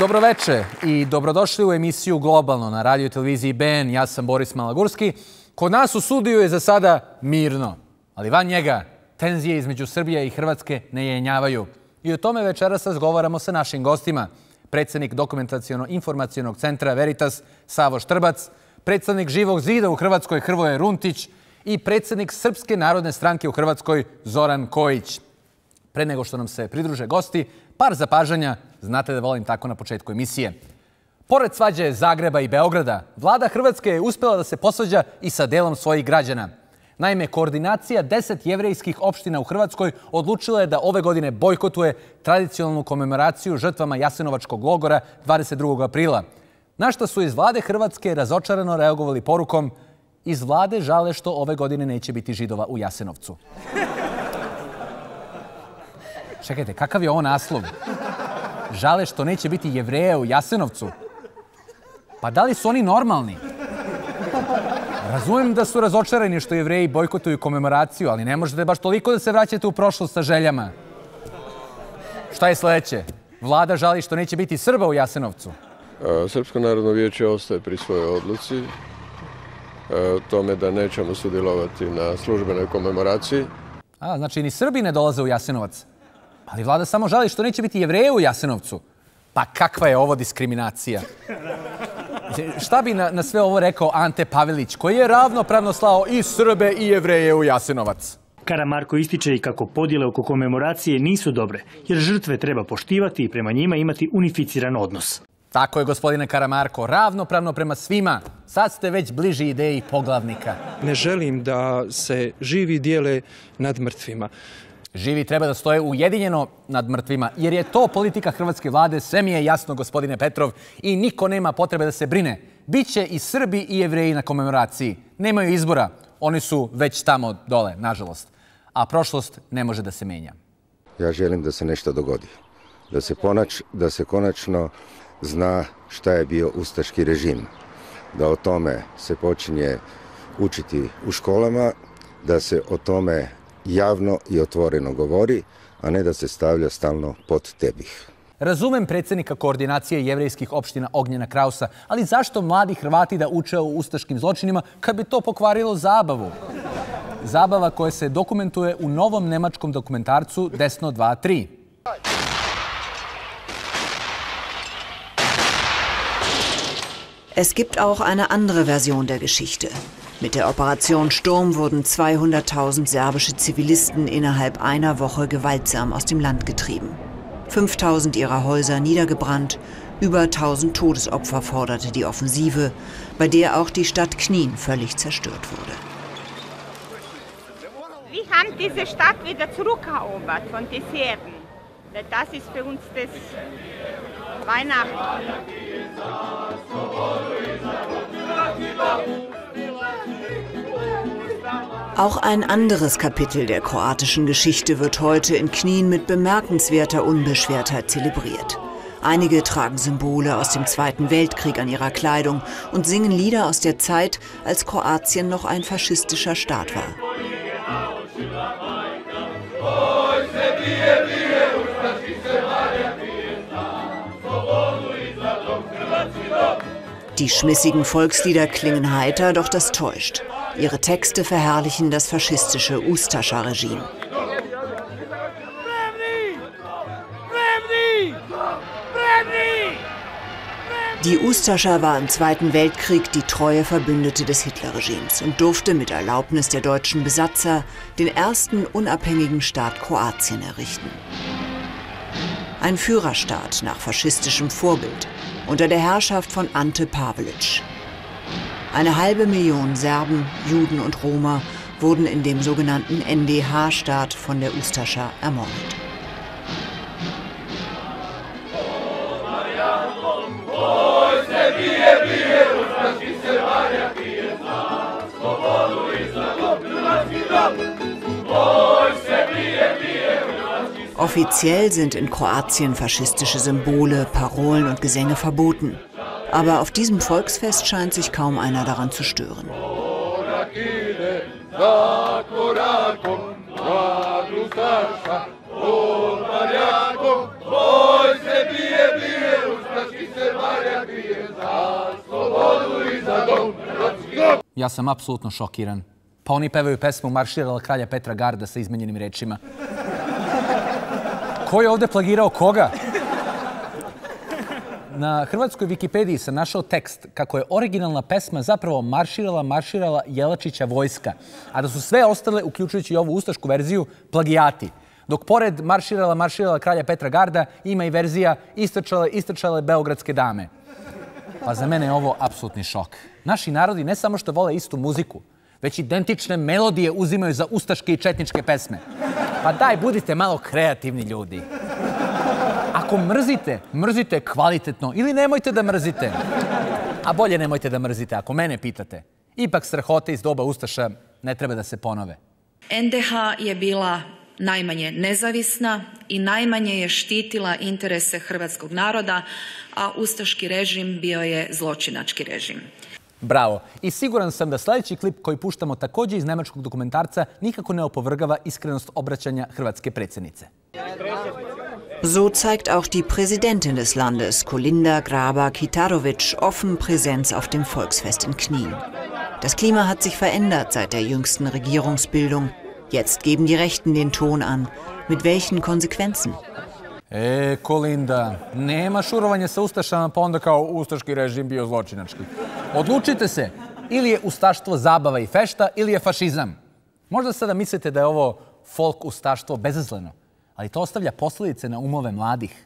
Dobroveče i dobrodošli u emisiju Globalno na radio i televiziji BN. Ja sam Boris Malagurski. Kod nas u studiju je za sada mirno, ali van njega tenzije između Srbije i Hrvatske ne jenjavaju. I o tome večeras razgovaramo sa našim gostima. Predsednik Dokumentaciono-informacionog centra Veritas Savo Štrbac, predsednik Živog zida u Hrvatskoj Hrvoje Runtić i predsednik Srpske narodne stranke u Hrvatskoj Zoran Kojić. Pre nego što nam se pridruže gosti, par zapažanja, znate da volim tako na početku emisije. Pored svađe Zagreba i Beograda, vlada Hrvatske je uspjela da se posvađa i sa delom svojih građana. Naime, koordinacija 10 jevrejskih opština u Hrvatskoj odlučila je da ove godine bojkotuje tradicionalnu komemoraciju žrtvama Jasenovačkog logora 22. aprila. Na što su iz vlade Hrvatske razočarano reagovali porukom: iz vlade žale što ove godine neće biti Židova u Jasenovcu. Čekajte, kakav je ovo naslov? Žale što neće biti Jevreja u Jasenovcu? Pa da li su oni normalni? Razumem da su razočarani što Jevreji bojkotuju komemoraciju, ali ne možete baš toliko da se vraćate u prošlost sa željama. Šta je sledeće? Vlada žali što neće biti Srba u Jasenovcu? Srpsko narodno vijeće ostaje pri svojoj odluci, tome da nećemo sudjelovati na službenoj komemoraciji. Znači ni Srbi ne dolaze u Jasenovac? Ali vlada samo žali što neće biti Jevreja u Jasenovcu. Pa kakva je ovo diskriminacija? Šta bi na sve ovo rekao Ante Pavelić, koji je ravnopravno slao i Srbe i Jevreje u Jasenovac? Karamarko ističe i kako podjele oko komemoracije nisu dobre, jer žrtve treba poštivati i prema njima imati unificiran odnos. Tako je, gospodine Karamarko, ravnopravno prema svima. Sad ste već bliži ideji poglavnika. Ne želim da se živi dijele nad mrtvima. Živi treba da stoje ujedinjeno nad mrtvima, jer je to politika hrvatske vlade, sve mi je jasno, gospodine Petrov, i niko nema potrebe da se brine. Biće i Srbi i Jevreji na komemoraciji. Nemaju izbora, oni su već tamo dole, nažalost. A prošlost ne može da se menja. Ja želim da se nešto dogodi. Da se konačno zna šta je bio ustaški režim. Da o tome se počinje učiti u školama, da se o tome javno i otvoreno govori, a ne da se stavlja stalno pod tepih. Razumem predsednika koordinacije jevrejskih opština Ognjena Krausa, ali zašto mladi Hrvati da uče o ustaškim zločinima kad bi to pokvarilo zabavu? Zabava koja se dokumentuje u novom nemačkom dokumentarcu Desno 2-3. Es gibt auch eine andere Version der Geschichte. Mit der Operation Sturm wurden 200.000 serbische Zivilisten innerhalb einer Woche gewaltsam aus dem Land getrieben. 5.000 ihrer Häuser niedergebrannt, über 1.000 Todesopfer forderte die Offensive, bei der auch die Stadt Knin völlig zerstört wurde. Wir haben diese Stadt wieder zurückerobert von den Serben. Das ist für uns das Weihnachten. Auch ein anderes Kapitel der kroatischen Geschichte wird heute in Knin mit bemerkenswerter Unbeschwertheit zelebriert. Einige tragen Symbole aus dem Zweiten Weltkrieg an ihrer Kleidung und singen Lieder aus der Zeit, als Kroatien noch ein faschistischer Staat war. Die schmissigen Volkslieder klingen heiter, doch das täuscht. Ihre Texte verherrlichen das faschistische Ustascha-Regime. Die Ustascha war im Zweiten Weltkrieg die treue Verbündete des Hitlerregimes und durfte mit Erlaubnis der deutschen Besatzer den ersten unabhängigen Staat Kroatien errichten. Ein Führerstaat nach faschistischem Vorbild unter der Herrschaft von Ante Pavelić. 1,5 Million Serben, Juden und Roma wurden in dem sogenannten NDH-Staat von der Ustascha ermordet. Offiziell sind in Kroatien faschistische Symbole, Parolen und Gesänge verboten. Aber auf diesem Volksfest scheint sich kaum einer daran zu stören. Ja sam apsolutno šokiran. Pa oni pevaju pesmu Marširala kralja Petra Garda sa izmenjenim rečima. Ko je ovde plagirao koga? Na hrvatskoj Wikipediji sam našao tekst kako je originalna pesma zapravo Marširala Jelačića vojska, a da su sve ostale, uključujući i ovu ustašku verziju, plagijati. Dok pored Marširala kralja Petra Garda ima i verzija Istrčale beogradske dame. Pa za mene je ovo apsolutni šok. Naši narodi ne samo što vole istu muziku, već identične melodije uzimaju za ustaške i četničke pesme. Pa daj, budite malo kreativni ljudi. Ako mrzite, mrzite kvalitetno ili nemojte da mrzite. A bolje nemojte da mrzite, ako mene pitate. Ipak strahote iz doba ustaša ne treba da se ponove. NDH je bila najmanje nezavisna i najmanje je štitila interese hrvatskog naroda, a ustaški režim bio je zločinački režim. Bravo. I siguran sam da sljedeći klip koji puštamo također iz nemačkog dokumentarca nikako ne opovrgava iskrenost obraćanja hrvatske predsjednice. So zeigt auch die Präsidentin des Landes, Kolinda Grabar-Kitarović, offen Präsenz auf dem Volksfest in Knien. Das Klima hat sich verändert seit der jüngsten Regierungsbildung. Jetzt geben die Rechten den Ton an. Mit welchen Konsequenzen? Kolinda, nema šurovanja sa ustašama pa onda kao ustaški režim bio zločinački. Odlučite se, ili je ustaštvo zabava i fešta, ili je fašizam. Možda sada mislite da je ovo folk ustaštvo bezazleno, ali to ostavlja posljedice na umove mladih.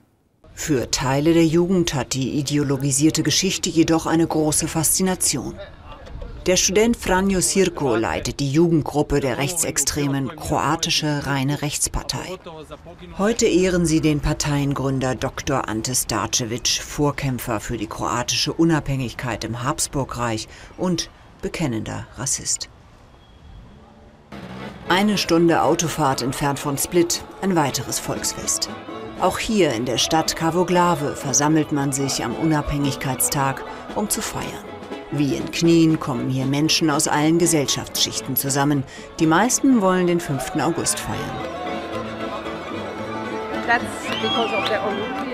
Für Teile der Jugend hat die ideologisierte Geschichte jedoch eine große Faszination. Der Student Franjo Sirko leitet die Jugendgruppe der rechtsextremen Kroatische Reine Rechtspartei. Heute ehren sie den Parteiengründer Dr. Ante Starčević, Vorkämpfer für die kroatische Unabhängigkeit im Habsburgreich und bekennender Rassist. Eine Stunde Autofahrt entfernt von Split, ein weiteres Volksfest. Auch hier in der Stadt Kavoglave versammelt man sich am Unabhängigkeitstag, um zu feiern. Wie in Knien kommen hier Menschen aus allen Gesellschaftsschichten zusammen. Die meisten wollen den 5. August feiern.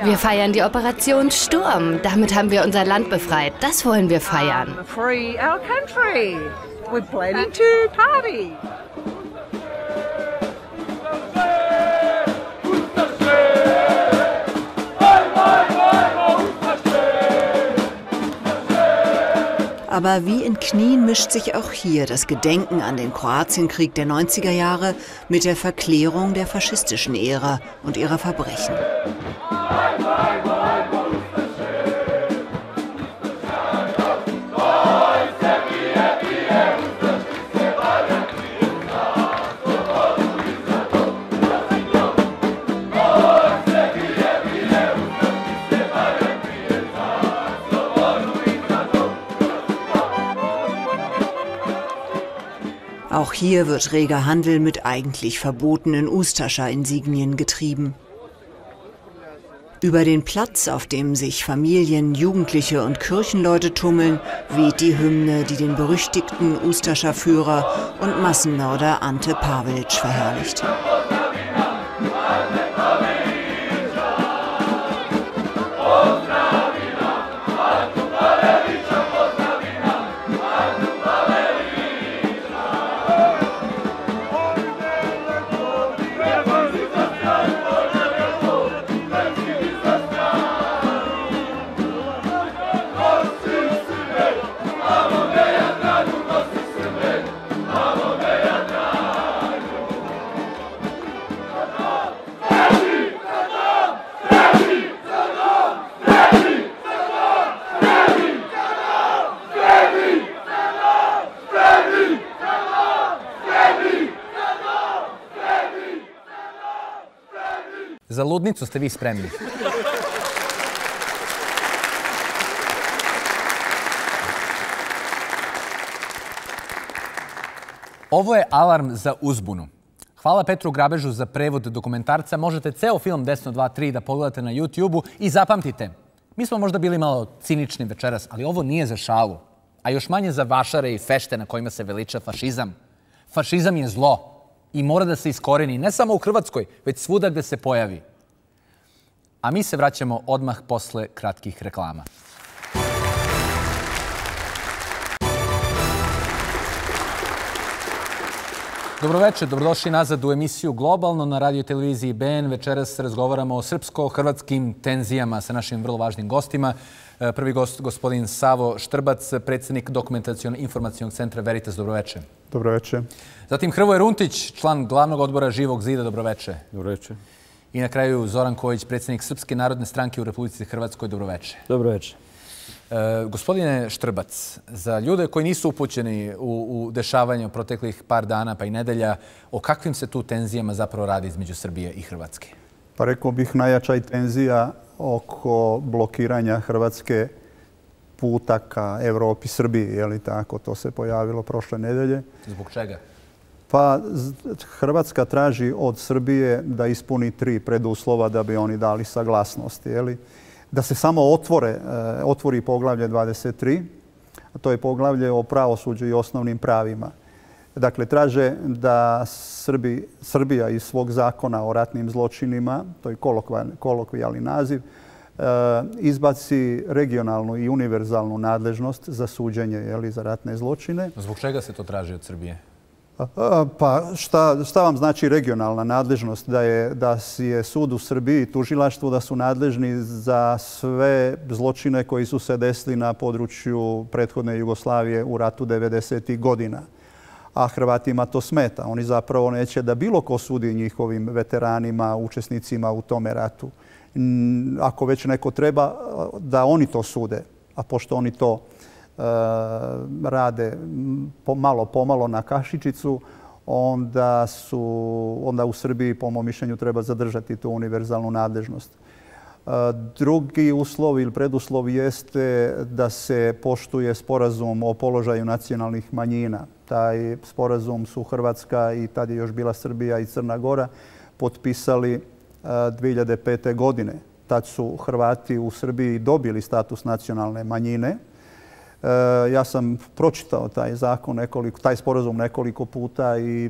Wir feiern die Operation Sturm. Damit haben wir unser Land befreit. Das wollen wir feiern. Free our country. We're planning to party. Aber wie in Knien mischt sich auch hier das Gedenken an den Kroatienkrieg der 90er Jahre mit der Verklärung der faschistischen Ära und ihrer Verbrechen. Auch hier wird reger Handel mit eigentlich verbotenen Ustascha-Insignien getrieben. Über den Platz, auf dem sich Familien, Jugendliche und Kirchenleute tummeln, weht die Hymne, die den berüchtigten Ustascha-Führer und Massenmörder Ante Pavelić verherrlicht. Za ludnicu ste vi spremni. Ovo je alarm za uzbunu. Hvala Petru Grabežu za prevod dokumentarca. Možete ceo film Desno 2-3 da pogledate na YouTube-u i zapamtite. Mi smo možda bili malo cinični večeras, ali ovo nije za šalu. A još manje za vašare i fešte na kojima se veliča fašizam. Fašizam je zlo i mora da se iskoreni ne samo u Hrvatskoj, već svuda gde se pojavi. A mi se vraćamo odmah posle kratkih reklama. Dobroveče, dobrodošli nazad u emisiju Globalno na radio televiziji BN. Večeras razgovaramo o srpsko-hrvatskim tenzijama sa našim vrlo važnim gostima. Prvi gost, gospodin Savo Štrbac, predsjednik Dokumentaciono-informacionog centra Veritas. Dobroveče. Dobroveče. Zatim Hrvoje Runtić, član glavnog odbora Živog zida. Dobroveče. Dobroveče. I na kraju Zoran Kojić, predsjednik Srpske narodne stranke u Republici Hrvatskoj. Dobroveče. Dobroveče. Gospodine Štrbac, za ljude koji nisu upućeni u dešavanje proteklih par dana pa i nedelja, o kakvim se tu tenzijama zapravo radi između Srbije i Hrvatske? Pa rekao bih najjača tenzija oko blokiranja Hrvatske puta ka Evropi, Srbiji, je li tako? To se pojavilo prošle nedelje. Zbog čega? Pa Hrvatska traži od Srbije da ispuni 3 preduslova da bi oni dali saglasnost, je li? Da se samo otvori poglavlje 23, a to je poglavlje o pravosuđu i osnovnim pravima. Dakle, traže da Srbija iz svog zakona o ratnim zločinima, to je kolokvijalni naziv, izbaci regionalnu i univerzalnu nadležnost za suđenje za ratne zločine. Zbog čega se to traži od Srbije? Pa šta vam znači regionalna nadležnost? Da je sud u Srbiji i tužilaštvo da su nadležni za sve zločine koji su se desili na području prethodne Jugoslavije u ratu 90. godina. A Hrvatima to smeta. Oni zapravo neće da bilo ko sudi njihovim veteranima, učesnicima u tome ratu. Ako već neko treba, da oni to sude. A pošto oni to rade pomalo na kašičicu, onda u Srbiji, po mom mišljenju, treba zadržati tu univerzalnu nadležnost. Drugi uslov ili preduslov jeste da se poštuje sporazum o položaju nacionalnih manjina. Taj sporazum su Hrvatska i tad je još bila Srbija i Crna Gora potpisali 2005. godine. Tad su Hrvati u Srbiji dobili status nacionalne manjine. Ja sam pročitao taj sporazum nekoliko puta i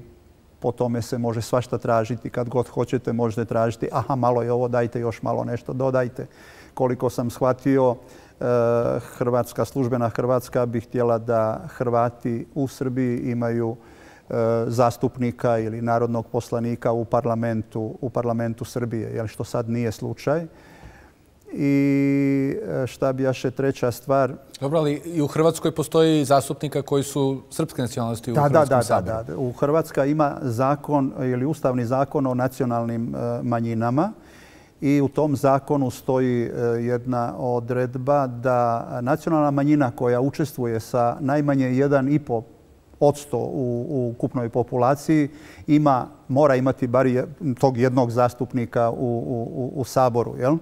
po tome se može svašta tražiti. Kad god hoćete možete tražiti, aha, malo je ovo, dajte još malo nešto, dodajte. Koliko sam shvatio, službena Hrvatska bi htjela da Hrvati u Srbiji imaju zastupnika ili narodnog poslanika u parlamentu Srbije, što sad nije slučaj. I šta bi još treća stvar? Dobro, ali i u Hrvatskoj postoji zastupnika koji su srpske nacionalnosti u Hrvatskom saboru. Da. U Hrvatska ima zakon ili ustavni zakon o nacionalnim manjinama i u tom zakonu stoji jedna odredba da nacionalna manjina koja učestvuje sa najmanje 1,5% u ukupnoj populaciji mora imati bar tog jednog zastupnika u Saboru, jel?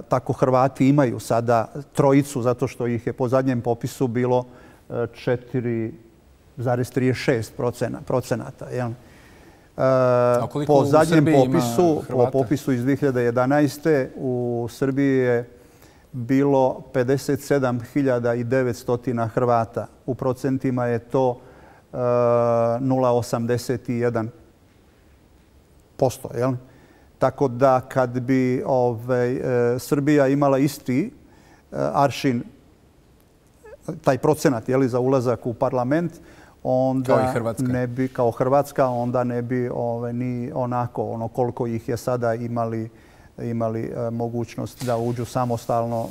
Tako Hrvati imaju sada 3, zato što ih je po zadnjem popisu bilo 4,36%. Po zadnjem popisu iz 2011. u Srbiji je bilo 57.900 Hrvata. U procentima je to 0,81%. Tako da kad bi Srbija imala isti aršin, taj procenat za ulazak u parlament, onda ne bi, kao Hrvatska, onda ne bi ni onako koliko ih je sada imali mogućnost da uđu samostalno u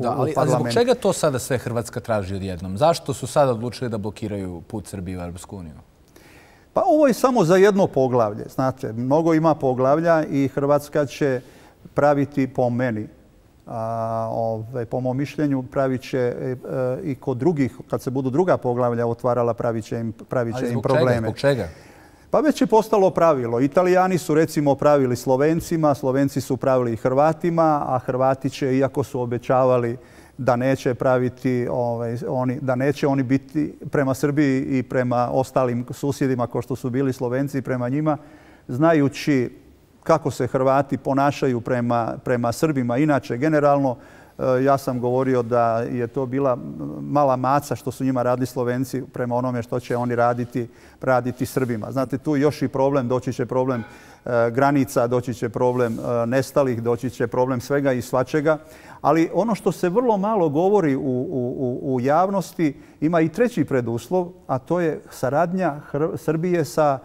parlament. Ali zbog čega to sada sve Hrvatska traži odjednom? Zašto su sada odlučili da blokiraju put Srbije u Europsku uniju? Pa ovo je samo za jedno poglavlje. Znate, mnogo ima poglavlja i Hrvatska će praviti, po meni, po mom mišljenju, pravit će i kod drugih, kad se budu druga poglavlja otvarala, pravit će im probleme. Zbog čega? Pa već je postalo pravilo. Italijani su recimo pravili Slovencima, Slovenci su pravili Hrvatima, a Hrvati će, iako su obećavali da neće praviti, da neće oni biti prema Srbiji i prema ostalim susjedima kao što su bili Slovenci prema njima, znajući kako se Hrvati ponašaju prema Srbima. Inače, generalno, Ja sam govorio da je to bila mala maca što su njima radili Slovenci prema onome što će oni raditi Srbima. Znate, tu još i problem, doći će problem granica, doći će problem nestalih, doći će problem svega i svačega. Ali ono što se vrlo malo govori u javnosti ima i treći preduslov, a to je saradnja Srbije sa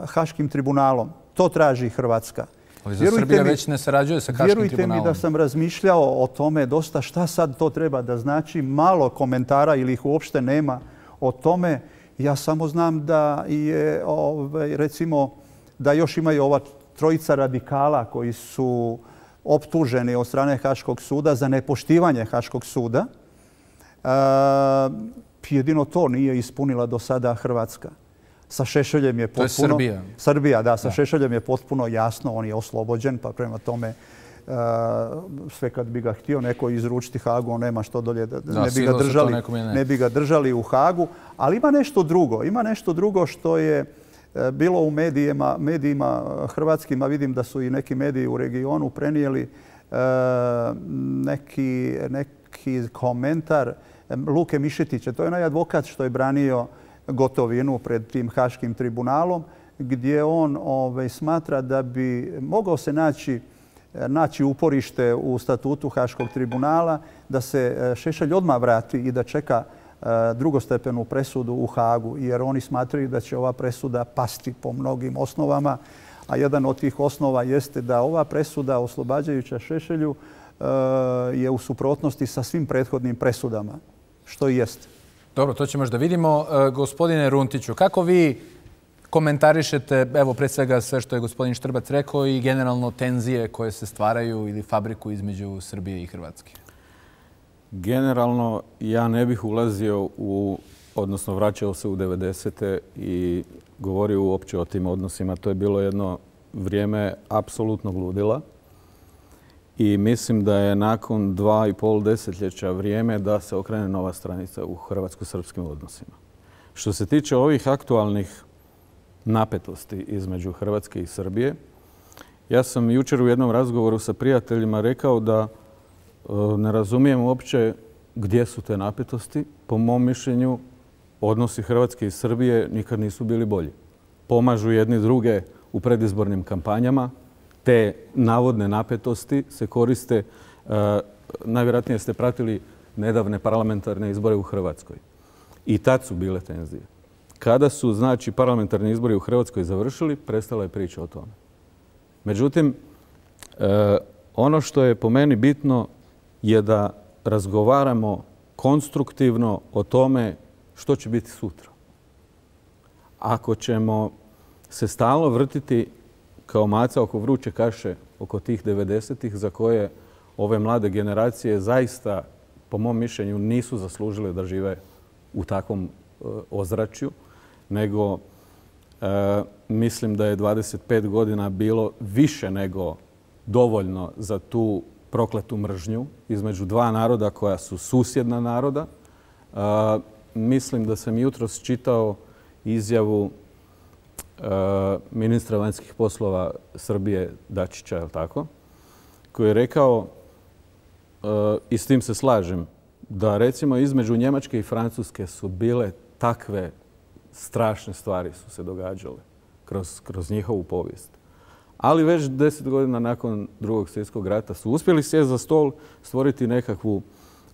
Haškim tribunalom. To traži Hrvatska. Ali za Srbija već ne sarađuje sa Haškim tribunalom. Vjerujte mi da sam razmišljao o tome dosta šta sad to treba da znači. Malo komentara ili ih uopšte nema o tome. Ja samo znam da je, recimo, da još imaju ova trojica radikala koji su optuženi od strane Haškog suda za nepoštivanje Haškog suda. Jedino to nije ispunila do sada Hrvatska. Sa Šešeljem je potpuno... To je Srbija. Srbija, da. Sa Šešeljem je potpuno jasno. On je oslobođen, pa prema tome sve kad bi ga htio neko izručiti Hagu, on nema što dolje. Ne bi ga držali u Hagu. Ali ima nešto drugo. Ima nešto drugo što je bilo u medijima hrvatskim, a vidim da su i neki mediji u regionu prenijeli neki komentar Luke Mišetića. To je onaj advokat što je branio Gotovinu pred tim Haškim tribunalom, gdje on smatra da bi mogao se naći uporište u statutu Haškog tribunala, da se Šešelj odmah vrati i da čeka drugostepenu presudu u Hagu, jer oni smatraju da će ova presuda pasti po mnogim osnovama, a jedan od tih osnova jeste da ova presuda oslobađajuća Šešelju je u suprotnosti sa svim prethodnim presudama, što i jeste. Dobro, to ćemo još da vidimo. Gospodine Runtiću, kako vi komentarišete, evo, pre svega sve što je gospodin Štrbac rekao i generalno tenzije koje se stvaraju ili fabriku između Srbije i Hrvatske? Generalno, ja ne bih ulazio odnosno vraćao se u 90. i govorio uopće o tim odnosima. To je bilo jedno vrijeme apsolutnog ludila. I mislim da je nakon 2,5 desetljeća vrijeme da se okrene nova stranica u hrvatsko-srpskim odnosima. Što se tiče ovih aktualnih napetosti između Hrvatske i Srbije, ja sam jučer u jednom razgovoru sa prijateljima rekao da ne razumijem uopće gdje su te napetosti. Po mom mišljenju, odnosi Hrvatske i Srbije nikad nisu bili bolji. Pomažu jedni druge u predizbornim kampanjama. Te navodne napetosti se koriste, najvjerojatnije ste pratili nedavne parlamentarne izbore u Hrvatskoj. I tad su bile tenzije. Kada su, znači, parlamentarni izbori u Hrvatskoj završili, prestala je priča o tome. Međutim, ono što je po meni bitno je da razgovaramo konstruktivno o tome što će biti sutra. Ako ćemo se stalno vrtiti kao maca oko vruće kaše, oko tih 90-ih za koje ove mlade generacije zaista, po mom mišljenju, nisu zaslužile da žive u takvom ozračju, nego mislim da je 25 godina bilo više nego dovoljno za tu prokletu mržnju između dva naroda koja su susjedna naroda. Mislim da sam jutros čitao izjavu ministra vanjskih poslova Srbije Dačića, je li tako, koji je rekao, i s tim se slažem, da recimo između Njemačke i Francuske su bile takve strašne stvari su se događale kroz njihovu povijest. Ali već 10 godina nakon Drugog svjetskog rata su uspjeli sjesti za stol, stvoriti nekakvu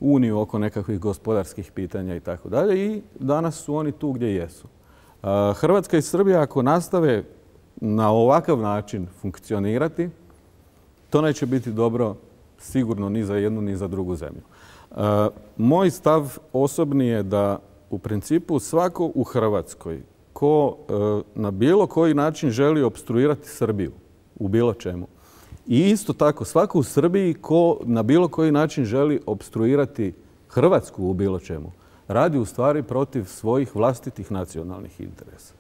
uniju oko nekakvih gospodarskih pitanja i tako dalje i danas su oni tu gdje jesu. Hrvatska i Srbija ako nastave na ovakav način funkcionirati, to neće biti dobro sigurno ni za jednu ni za drugu zemlju. Moj stav osobni je da u principu svako u Hrvatskoj ko na bilo koji način želi opstruirati Srbiju u bilo čemu i isto tako svako u Srbiji ko na bilo koji način želi opstruirati Hrvatsku u bilo čemu, radi u stvari protiv svojih vlastitih nacionalnih interesa.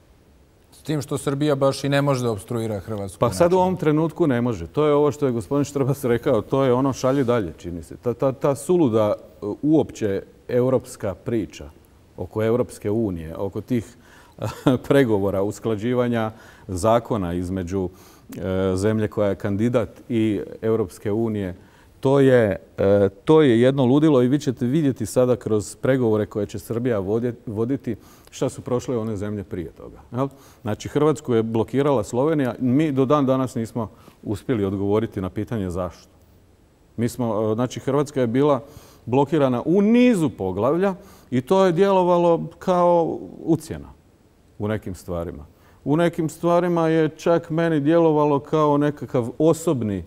S tim što Srbija baš i ne može da opstruira Hrvatsku. Pa sad u ovom trenutku ne može. To je ovo što je gospodin Štrbac rekao, to je ono šalje dalje, čini se. Ta suluda uopće europska priča oko Europske unije, oko tih pregovora, usklađivanja zakona između zemlje koja je kandidat i Europske unije, To je jedno ludilo i vi ćete vidjeti sada kroz pregovore koje će Srbija voditi šta su prošle one zemlje prije toga. Znači, Hrvatsku je blokirala Slovenija. Mi do dan danas nismo uspjeli odgovoriti na pitanje zašto. Znači, Hrvatska je bila blokirana u nizu poglavlja i to je djelovalo kao ucjena u nekim stvarima. U nekim stvarima je čak meni djelovalo kao nekakav osobni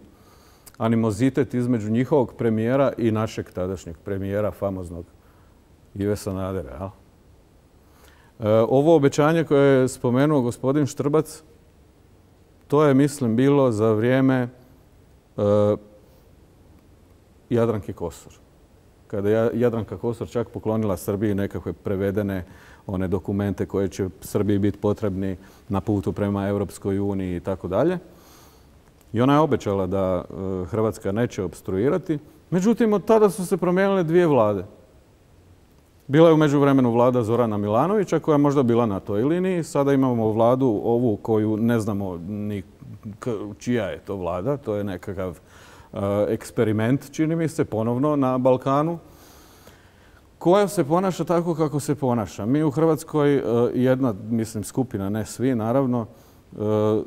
animozitet između njihovog premijera i našeg tadašnjeg premijera, famoznog Ive Sanadera. Ovo obećanje koje je spomenuo gospodin Štrbac, to je, mislim, bilo za vrijeme Jadranke Kosor. Kada je Jadranka Kosor čak poklonila Srbiji nekakve prevedene one dokumente koje će Srbiji biti potrebni na putu prema Europskoj uniji i tako dalje. I ona je obećala da Hrvatska neće opstruirati. Međutim, od tada su se promijenile dvije vlade. Bila je u međuvremenu vlada Zorana Milanovića koja je možda bila na toj liniji. Sada imamo vladu ovu koju ne znamo ni čija je to vlada. To je nekakav eksperiment, čini mi se, ponovno na Balkanu, koja se ponaša tako kako se ponaša. Mi u Hrvatskoj, jedna, mislim, skupina, ne svi, naravno,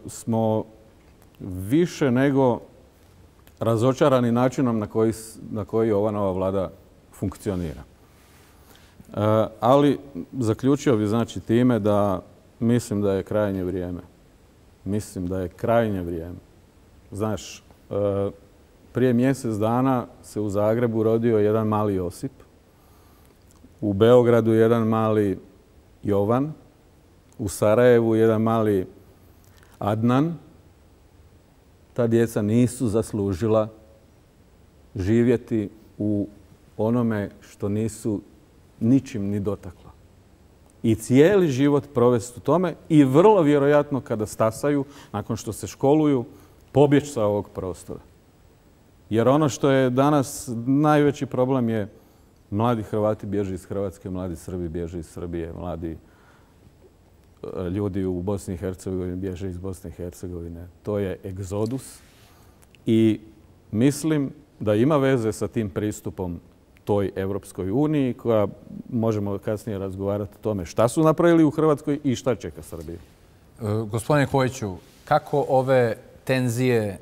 smo više nego razočarani načinom na koji ova nova vlada funkcionira. Ali zaključio bih, znači, time da mislim da je krajnje vrijeme. Mislim da je krajnje vrijeme. Znaš, prije mjesec dana se u Zagrebu rodio jedan mali Josip, u Beogradu jedan mali Jovan, u Sarajevu jedan mali Adnan. Ta djeca nisu zaslužila živjeti u onome što nisu ničim ni dotakla. I cijeli život provesti u tome i vrlo vjerojatno kada stasaju, nakon što se školuju, pobjeći sa ovog prostora. Jer ono što je danas najveći problem je mladi Hrvati bježe iz Hrvatske, mladi Srbi bježe iz Srbije, mladi ljudi u Bosni i Hercegovini bježe iz Bosne i Hercegovine. To je egzodus i mislim da ima veze sa tim pristupom toj Evropskoj uniji koja, možemo kasnije razgovarati o tome šta su napravili u Hrvatskoj i šta čeka Srbiju. Gospodine Kojiću, kako ove tenzije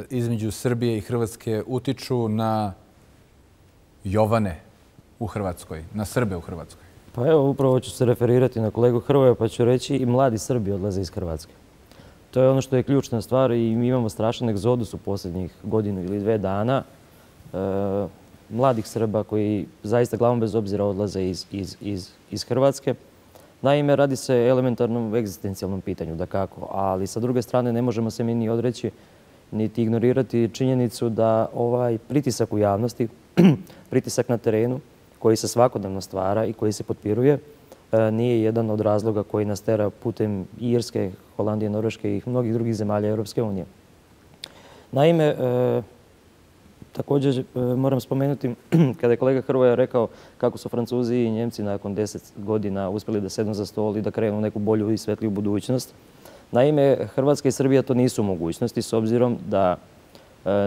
između Srbije i Hrvatske utiču na Jovane u Hrvatskoj, na Srbe u Hrvatskoj? Pa evo, upravo ću se referirati na kolegu Hrvoja pa ću reći i mladi Srbi odlaze iz Hrvatske. To je ono što je ključna stvar i mi imamo strašan egzodus u posljednjih godinu ili 2 dana mladih Srba koji zaista glavom bez obzira odlaze iz Hrvatske. Naime, radi se o elementarnom egzistencijalnom pitanju, dakako, ali sa druge strane ne možemo se mi ni odreći niti ignorirati činjenicu da ovaj pritisak u javnosti, pritisak na terenu koji se svakodnevno stvara i koji se potpiruje, nije jedan od razloga koji nas tera putem Irske, Holandije, Norveške i mnogih drugih zemalja Europske unije. Naime, također moram spomenuti kada je kolega Hrvoja rekao kako su Francuzi i Njemci nakon 10 godina uspjeli da sednu za stol i da krenu neku bolju i svetliju budućnost. Naime, Hrvatska i Srbija to nisu mogućnosti s obzirom da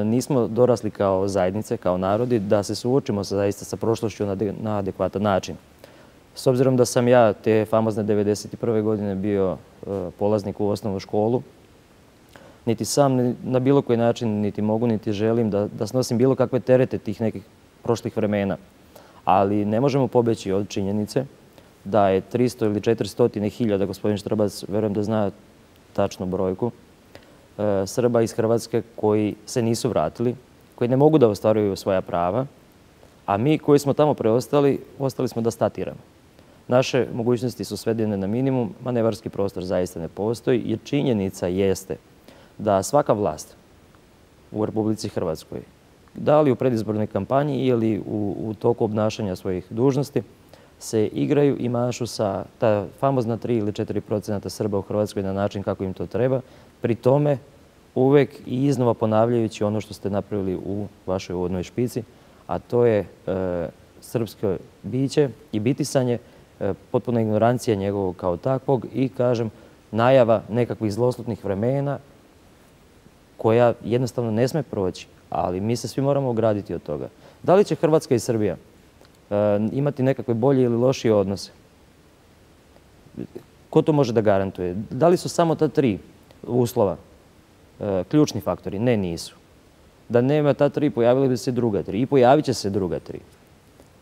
nismo dorasli kao zajednice, kao narodi, da se suočimo zaista sa prošlošću na adekvatan način. S obzirom da sam ja te famozne 1991. godine bio polaznik u osnovnu školu, niti sam na bilo koji način niti mogu, niti želim da snosim bilo kakve terete tih nekih prošlih vremena. Ali ne možemo pobjeći od činjenice da je 300 ili 400 hiljada, gospodin Štrbac, verujem da zna tačnu brojku, Srba iz Hrvatske koji se nisu vratili, koji ne mogu da ostvaruju svoja prava, a mi koji smo tamo preostali, ostali smo da statiramo. Naše mogućnosti su svedene na minimum, manevarski prostor zaista ne postoji, jer činjenica jeste da svaka vlast u Republici Hrvatskoj, da li u predizbornoj kampanji ili u toku obnašanja svojih dužnosti, se igraju i mašu sa ta famozna 3 ili 4% Srba u Hrvatskoj na način kako im to treba, pri tome uvek i iznova ponavljajući ono što ste napravili u vašoj uvodnoj špici, a to je srpsko biće i bitisanje, potpuna ignorancija njegovog kao takvog i, kažem, najava nekakvih zloslutnih vremena koja jednostavno ne sme proći. Ali mi se svi moramo ograditi od toga. Da li će Hrvatska i Srbija imati nekakve bolje ili lošije odnose? Ko to može da garantuje? Da li su samo ta 3 uslova ključni faktori? Ne, nisu. Da nema ta 3, pojavili bi se druga 3 i pojavit će se druga 3.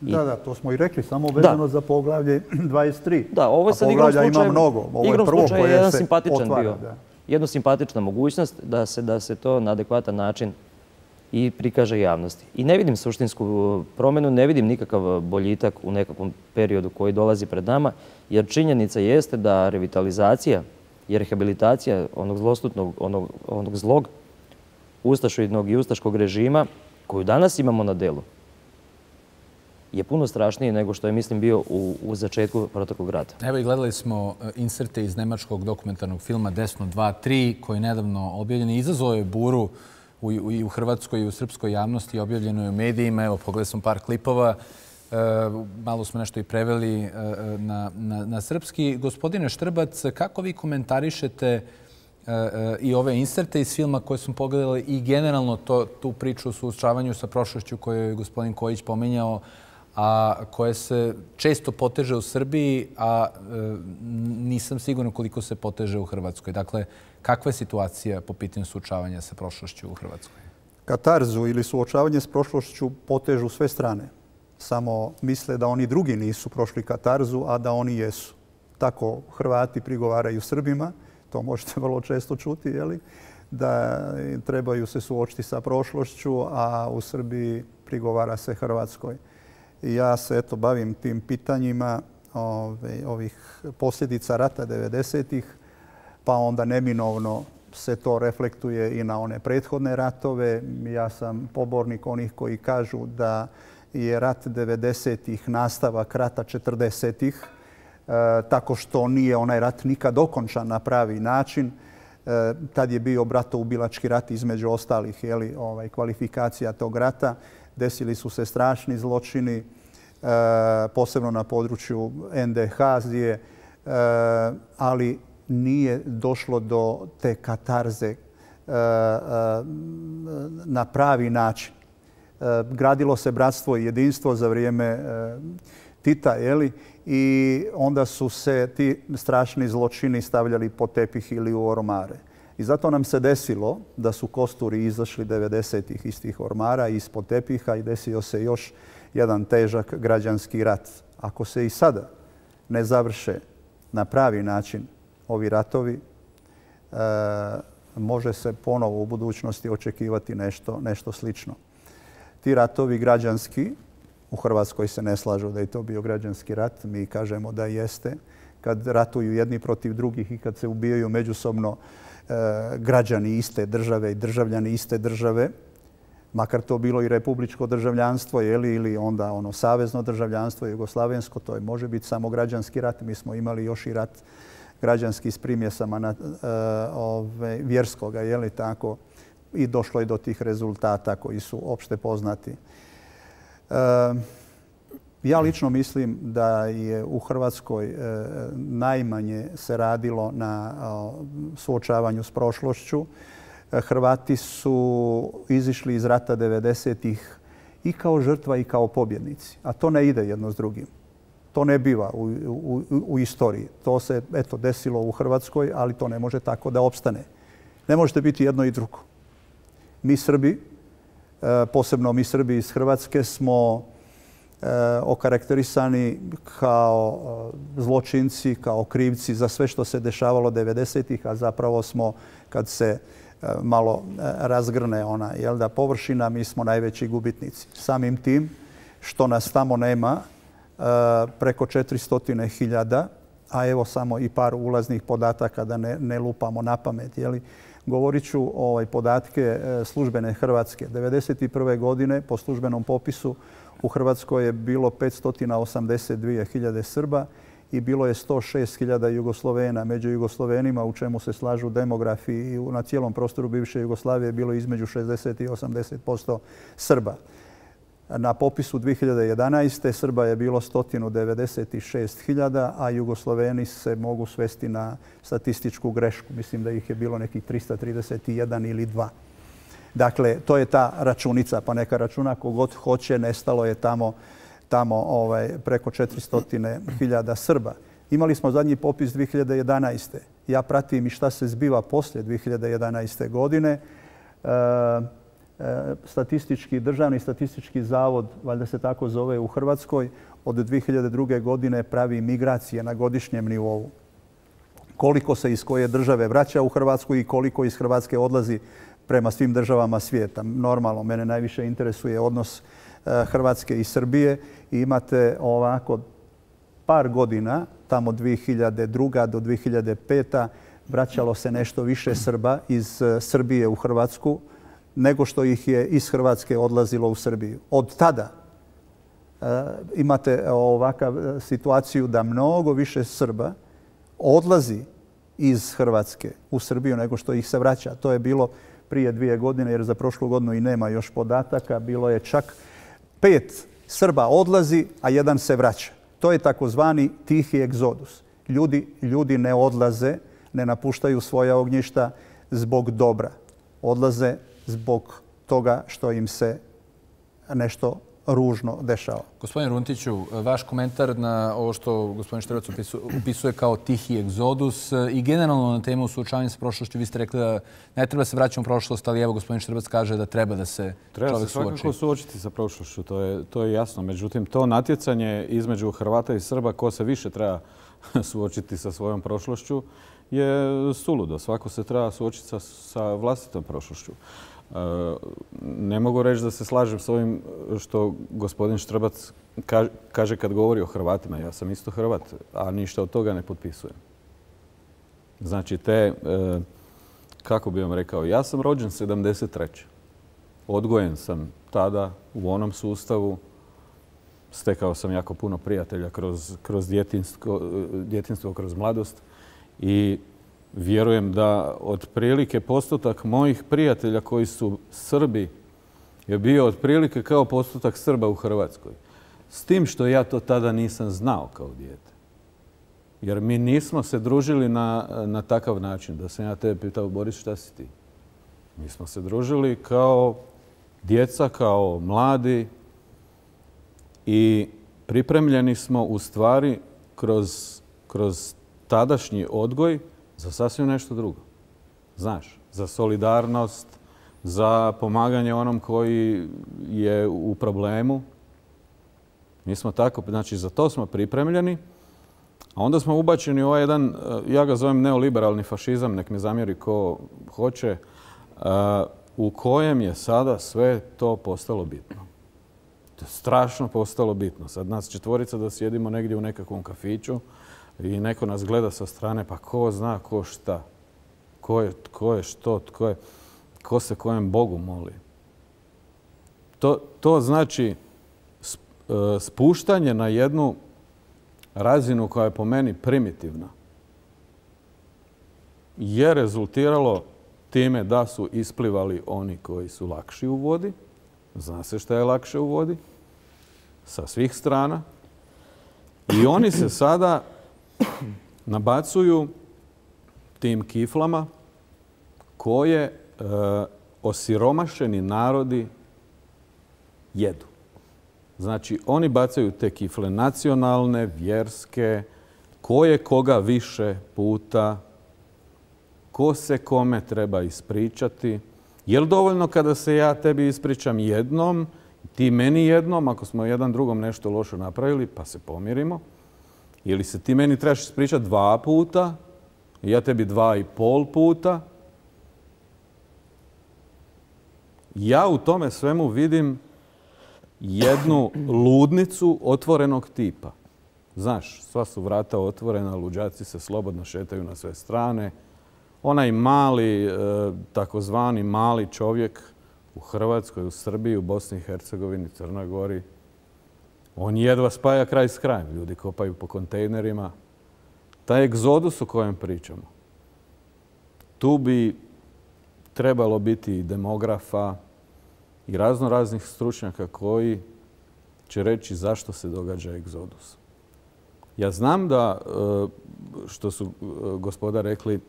Da, to smo i rekli, samo vezano za poglavlje 23. Da, ovo je sad poglavlja ima mnogo. Ovo je prvo koje se otvara. Jedna simpatična mogućnost da se to na adekvatan način i prikaže javnosti. I ne vidim suštinsku promjenu, ne vidim nikakav boljitak u nekakvom periodu koji dolazi pred nama, jer činjenica jeste da revitalizacija i rehabilitacija onog zlostutnog, onog zlog ustašoidnog i ustaškog režima koju danas imamo na delu je puno strašnije nego što je, mislim, bio u začetku protoklog rata. Evo i gledali smo inserte iz nemačkog dokumentarnog filma Desno 2.3 koji je nedavno objavljen i izazvao je buru i u hrvatskoj i u srpskoj javnosti, objavljeno je u medijima. Evo, pogledali smo par klipova, malo smo nešto i preveli na srpski. Gospodine Štrbac, kako vi komentarišete i ove inserte iz filma koje smo pogledali i generalno tu priču o suočavanju sa prošlošću koju je gospodin Kojić pominjao, a koje se često poteže u Srbiji, a nisam siguran koliko se poteže u Hrvatskoj. Dakle, kakva je situacija po pitanju suočavanja sa prošlošću u Hrvatskoj? Katarzu ili suočavanje s prošlošću potežu sve strane. Samo misle da oni drugi nisu prošli katarzu, a da oni jesu. Tako Hrvati prigovaraju Srbima, to možete vrlo često čuti, da trebaju se suočiti sa prošlošću, a u Srbiji prigovara se Hrvatskoj. Ja se bavim tim pitanjima ovih posljedica rata 90-ih, pa onda neminovno se to reflektuje i na one prethodne ratove. Ja sam pobornik onih koji kažu da je rat 90-ih nastavak rata 40-ih, tako što nije onaj rat nikad okončan na pravi način. Tad je bio bratoubilački rat između ostalih kvalifikacija tog rata. Desili su se strašni zločini, posebno na području NDH, Azije, ali nije došlo do te katarze na pravi način. Gradilo se bratstvo i jedinstvo za vrijeme Tita, i onda su se ti strašni zločini stavljali pod tepih ili u ormare. I zato nam se desilo da su kosturi izašli 90-ih iz tih ormara, ispod tepiha, i desio se još jedan težak građanski rat. Ako se i sada ne završe na pravi način ovi ratovi, može se ponovo u budućnosti očekivati nešto slično. Ti ratovi građanski, u Hrvatskoj se ne slažu da je to bio građanski rat, mi kažemo da jeste. Kad ratuju jedni protiv drugih i kad se ubijaju međusobno građani iste države i državljani iste države, makar to bilo i republičko državljanstvo ili onda ono savezno državljanstvo, jugoslavensko, to može biti samo građanski rat. Mi smo imali još i rat građanski s primjesama vjerskoga, tako, i došlo je do tih rezultata koji su opšte poznati. Ja lično mislim da je u Hrvatskoj najmanje se radilo na suočavanju s prošlošću. Hrvati su izišli iz rata 90-ih i kao žrtva i kao pobjednici. A to ne ide jedno s drugim. To ne biva u istoriji. To se desilo u Hrvatskoj, ali to ne može tako da opstane. Ne možete biti jedno i drugo. Mi Srbi, posebno mi Srbi iz Hrvatske, smo okarakterisani kao zločinci, kao krivci za sve što se dešavalo 90-ih, a zapravo smo, kad se malo razgrne ona površina, mi smo najveći gubitnici. Samim tim što nas tamo nema preko 400.000, a evo samo i par ulaznih podataka da ne lupamo na pamet. Govorit ću podatke službene Hrvatske. 1991. godine po službenom popisu u Hrvatskoj je bilo 582.000 Srba i bilo je 106.000 Jugoslovena. Među Jugoslovenima, u čemu se slažu demografi, i na cijelom prostoru bivše Jugoslavije bilo između 60 i 80% Srba. Na popisu 2011. Srba je bilo 196.000, a Jugosloveni se mogu svesti na statističku grešku. Mislim da ih je bilo nekih 331 ili 2. Dakle, to je ta računica, pa neka računa kogod hoće, nestalo je tamo preko 400.000 Srba. Imali smo zadnji popis 2011. Ja pratim i šta se zbiva poslije 2011. godine. Državni statistički zavod, valjda se tako zove u Hrvatskoj, od 2002. godine pravi migracije na godišnjem nivou. Koliko se iz koje države vraća u Hrvatsku i koliko iz Hrvatske odlazi prema svim državama svijeta. Normalno, mene najviše interesuje odnos Hrvatske i Srbije. I imate ovako par godina, tamo 2002. do 2005. vraćalo se nešto više Srba iz Srbije u Hrvatsku nego što ih je iz Hrvatske odlazilo u Srbiju. Od tada imate ovakav situaciju da mnogo više Srba odlazi iz Hrvatske u Srbiju nego što ih se vraća. To je bilo prije 2 godine, jer za prošlu godinu i nema još podataka. Bilo je čak 5 Srba odlazi, a 1 se vraća. To je takozvani tihi egzodus. Ljudi ne odlaze, ne napuštaju svoja ognjišta zbog dobra. Odlaze zbog toga što im se nešto ružno dešava. Gospodin Runtiću, vaš komentar na ovo što gospodin Štrbac upisuje kao tihi egzodus i generalno na temu suočavanja sa prošlošću, vi ste rekli da ne treba se vraćati u prošlost, ali evo gospodin Štrbac kaže da treba da se čovjek suoči. Treba se svakako suočiti sa prošlošću, to je jasno. Međutim, to natjecanje između Hrvata i Srba ko se više treba suočiti sa svojom prošlošću je suludo. Svako se treba suočiti sa vlastitom prošlošću. Ne mogu reći da se slažem s ovim što gospodin Štrbac kaže kad govori o Hrvatima. Ja sam isto Hrvat, a ništa od toga ne potpisujem. Znači, kako bi vam rekao, ja sam rođen 73. Odgojen sam tada u onom sustavu. Stekao sam jako puno prijatelja kroz djetinjstvo, kroz mladost i vjerujem da otprilike postotak mojih prijatelja koji su Srbi je bio otprilike kao postotak Srba u Hrvatskoj. S tim što ja to tada nisam znao kao dijete. Jer mi nismo se družili na takav način. Da sam ja tebe pitao, Boris, šta si ti? Mi smo se družili kao djeca, kao mladi i pripremljeni smo u stvari kroz tadašnji odgoj za sasvim nešto drugo. Znaš, za solidarnost, za pomaganje onom koji je u problemu. Mi smo tako, znači za to smo pripremljeni, a onda smo ubačeni u ovaj jedan, ja ga zovem neoliberalni fašizam, nek me zamjeri ko hoće, u kojem je sada sve to postalo bitno. To je strašno postalo bitno. Sad nas 4 da sjedimo negdje u nekakvom kafiću i neko nas gleda sa strane, pa ko zna ko šta, ko je što, ko se kojem Bogu moli. To znači spuštanje na jednu razinu koja je po meni primitivna je rezultiralo time da su isplivali oni koji su lakši u vodi. Zna se šta je lakše u vodi sa svih strana. I oni se sada nabacuju tim kiflama koje osiromašeni narodi jedu. Znači, oni bacaju te kifle nacionalne, vjerske, ko je koga više puta, ko se kome treba ispričati. Je li dovoljno kada se ja tebi ispričam jednom, ti meni jednom, ako smo jedan drugom nešto loše napravili, pa se pomirimo? Ili se ti meni trebaš ispričati 2 puta, ja tebi 2,5 puta? Ja u tome svemu vidim jednu ludnicu otvorenog tipa. Znaš, sva su vrata otvorena, luđaci se slobodno šetaju na sve strane. Onaj mali, takozvani mali čovjek u Hrvatskoj, u Srbiji, u Bosni i Hercegovini, Crnoj Gori, on jedva spaja kraj s krajem. Ljudi kopaju po kontejnerima. Taj egzodus o kojem pričamo, tu bi trebalo biti i demografa i raznih stručnjaka koji će reći zašto se događa egzodus. Ja znam da, što su gospoda rekli,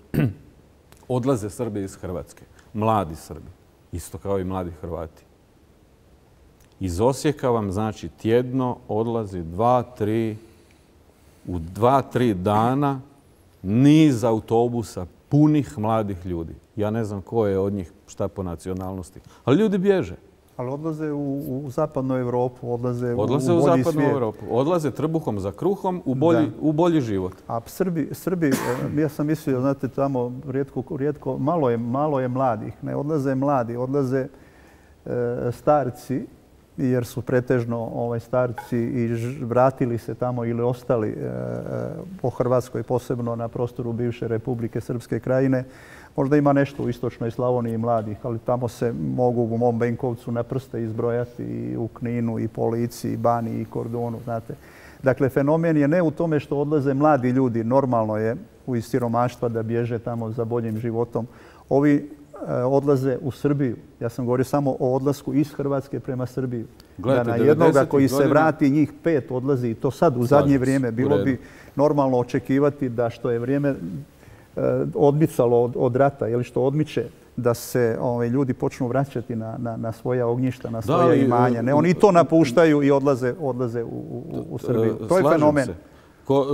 odlaze Srbi iz Hrvatske, mladi Srbi. Isto kao i mladi Hrvati. Iz Osijeka vam, znači, tjedno odlazi 2-3 dana niz autobusa punih mladih ljudi. Ja ne znam ko je od njih šta po nacionalnosti. Ali ljudi bježe. Ali odlaze u zapadnu Europu, odlaze u bolji zapadnu Europu. Odlaze trbuhom za kruhom u bolji život. A Srbi, ja sam mislio, znate, tamo rijetko, malo je mladih. Ne odlaze mladi, odlaze starci, jer su pretežno starci i vratili se tamo ili ostali po Hrvatskoj, posebno na prostoru bivše Republike Srpske krajine. Možda ima nešto u istočnoj Slavoniji mladih, ali tamo se mogu u mom Benkovcu na prste izbrojati i u Kninu, i po Lici, i Bani, i Kordunu, znate. Dakle, fenomen je ne u tome što odlaze mladi ljudi. Normalno je iz siromaštva da bježe tamo za boljim životom. Ovi odlaze u Srbiju. Ja sam govorio samo o odlasku iz Hrvatske prema Srbiju. Da na jednoga koji se vrati, njih 5 odlazi, i to sad u zadnje vrijeme. Bilo bi normalno očekivati da što je vrijeme odmicalo od rata, ili što odmiče, da se ljudi počnu vraćati na svoja ognjišta, na svoja imanja. Ne, oni to napuštaju i odlaze u Srbiju. To je fenomen.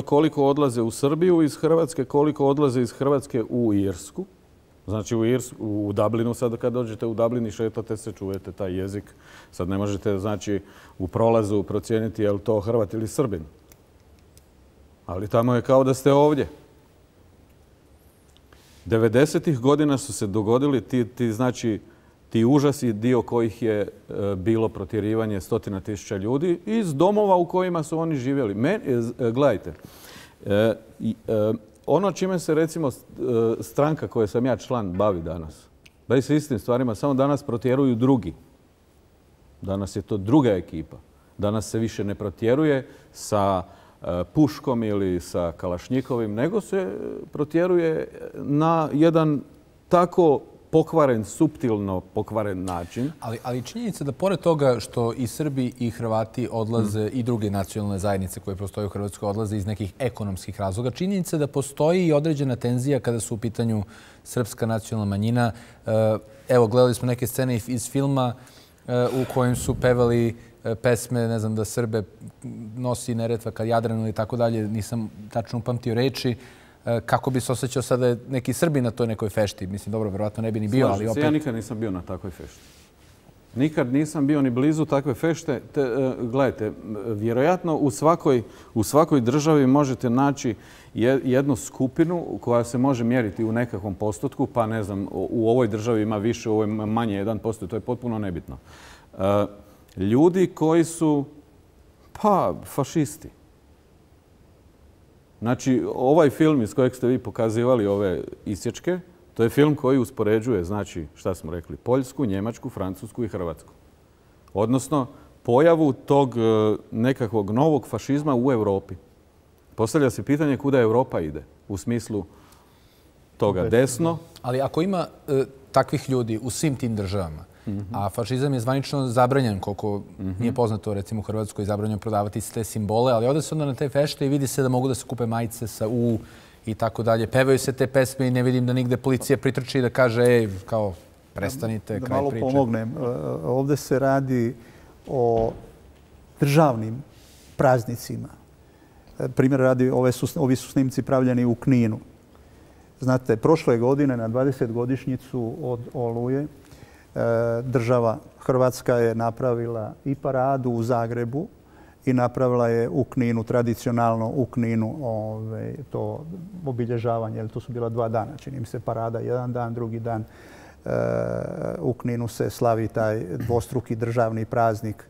Koliko odlaze u Srbiju iz Hrvatske, koliko odlaze iz Hrvatske u Irsku. Znači u Dublinu, sad kad dođete u Dublin i šetate se, čujete taj jezik. Sad ne možete, znači, u prolazu procijeniti je li to Hrvat ili Srbin. Ali tamo je kao da ste ovdje. 90-ih godina su se dogodili ti užasi, dio kojih je bilo protjerivanje 100.000 ljudi iz domova u kojima su oni živjeli. Gledajte, ono čime se, recimo, stranka koje sam ja član bavi danas, bavi se istim stvarima, samo danas protjeruju drugi. Danas je to druga ekipa. Danas se više ne protjeruje sa puškom ili sa kalašnjikovim, nego se protjeruje na jedan tako pokvaren, suptilno pokvaren način. Ali činjenica da pored toga što i Srbi i Hrvati odlaze i druge nacionalne zajednice koje postoje u Hrvatskoj odlaze iz nekih ekonomskih razloga, činjenica da postoji i određena tenzija kada su u pitanju srpska nacionalna manjina. Evo, gledali smo neke scene iz filma u kojem su pevali pesme, ne znam, da Srbe nosi Neretva kad Jadran ili tako dalje, nisam tačno upamtio reči. Kako bi se osjećao sada neki Srbi na toj nekoj fešti? Mislim, dobro, verovatno ne bi ni bio, ali opet... Ja nikad nisam bio na takvoj fešti. Nikad nisam bio ni blizu takve fešte. Gledajte, vjerojatno u svakoj državi možete naći jednu skupinu koja se može mjeriti u nekakvom postotku, pa ne znam, u ovoj državi ima više, u ovoj manje 1%, to je potpuno nebitno. Ljudi koji su, fašisti. Znači, ovaj film iz kojeg ste vi pokazivali ove isječke, to je film koji uspoređuje, znači, šta smo rekli, Poljsku, Njemačku, Francusku i Hrvatsku. Odnosno, pojavu tog nekakvog novog fašizma u Europi. Postavlja se pitanje kuda Europa ide u smislu toga desno. Ali ako ima takvih ljudi u svim tim državama, a fašizam je zvanično zabranjen, koliko nije poznato, recimo u Hrvatskoj je zabranjeno prodavati te simbole, ali ode se onda na te fešte i vidi se da mogu da se kupe majice sa U i tako dalje. Pevaju se te pesme i ne vidim da nigde policija pritrči i da kaže, kao, prestanite, kraj priče. Da malo pomognem. Ovde se radi o državnim praznicima. Primjer radi, ovi su snimci pravljeni u Kninu. Znate, prošle godine na 20-godišnjicu od Oluje država Hrvatska je napravila i paradu u Zagrebu i napravila je u Kninu, tradicionalno u Kninu, to obilježavanje. To su bila 2 dana, čini mi se, parada jedan dan, drugi dan. U Kninu se slavi taj dvostruki državni praznik,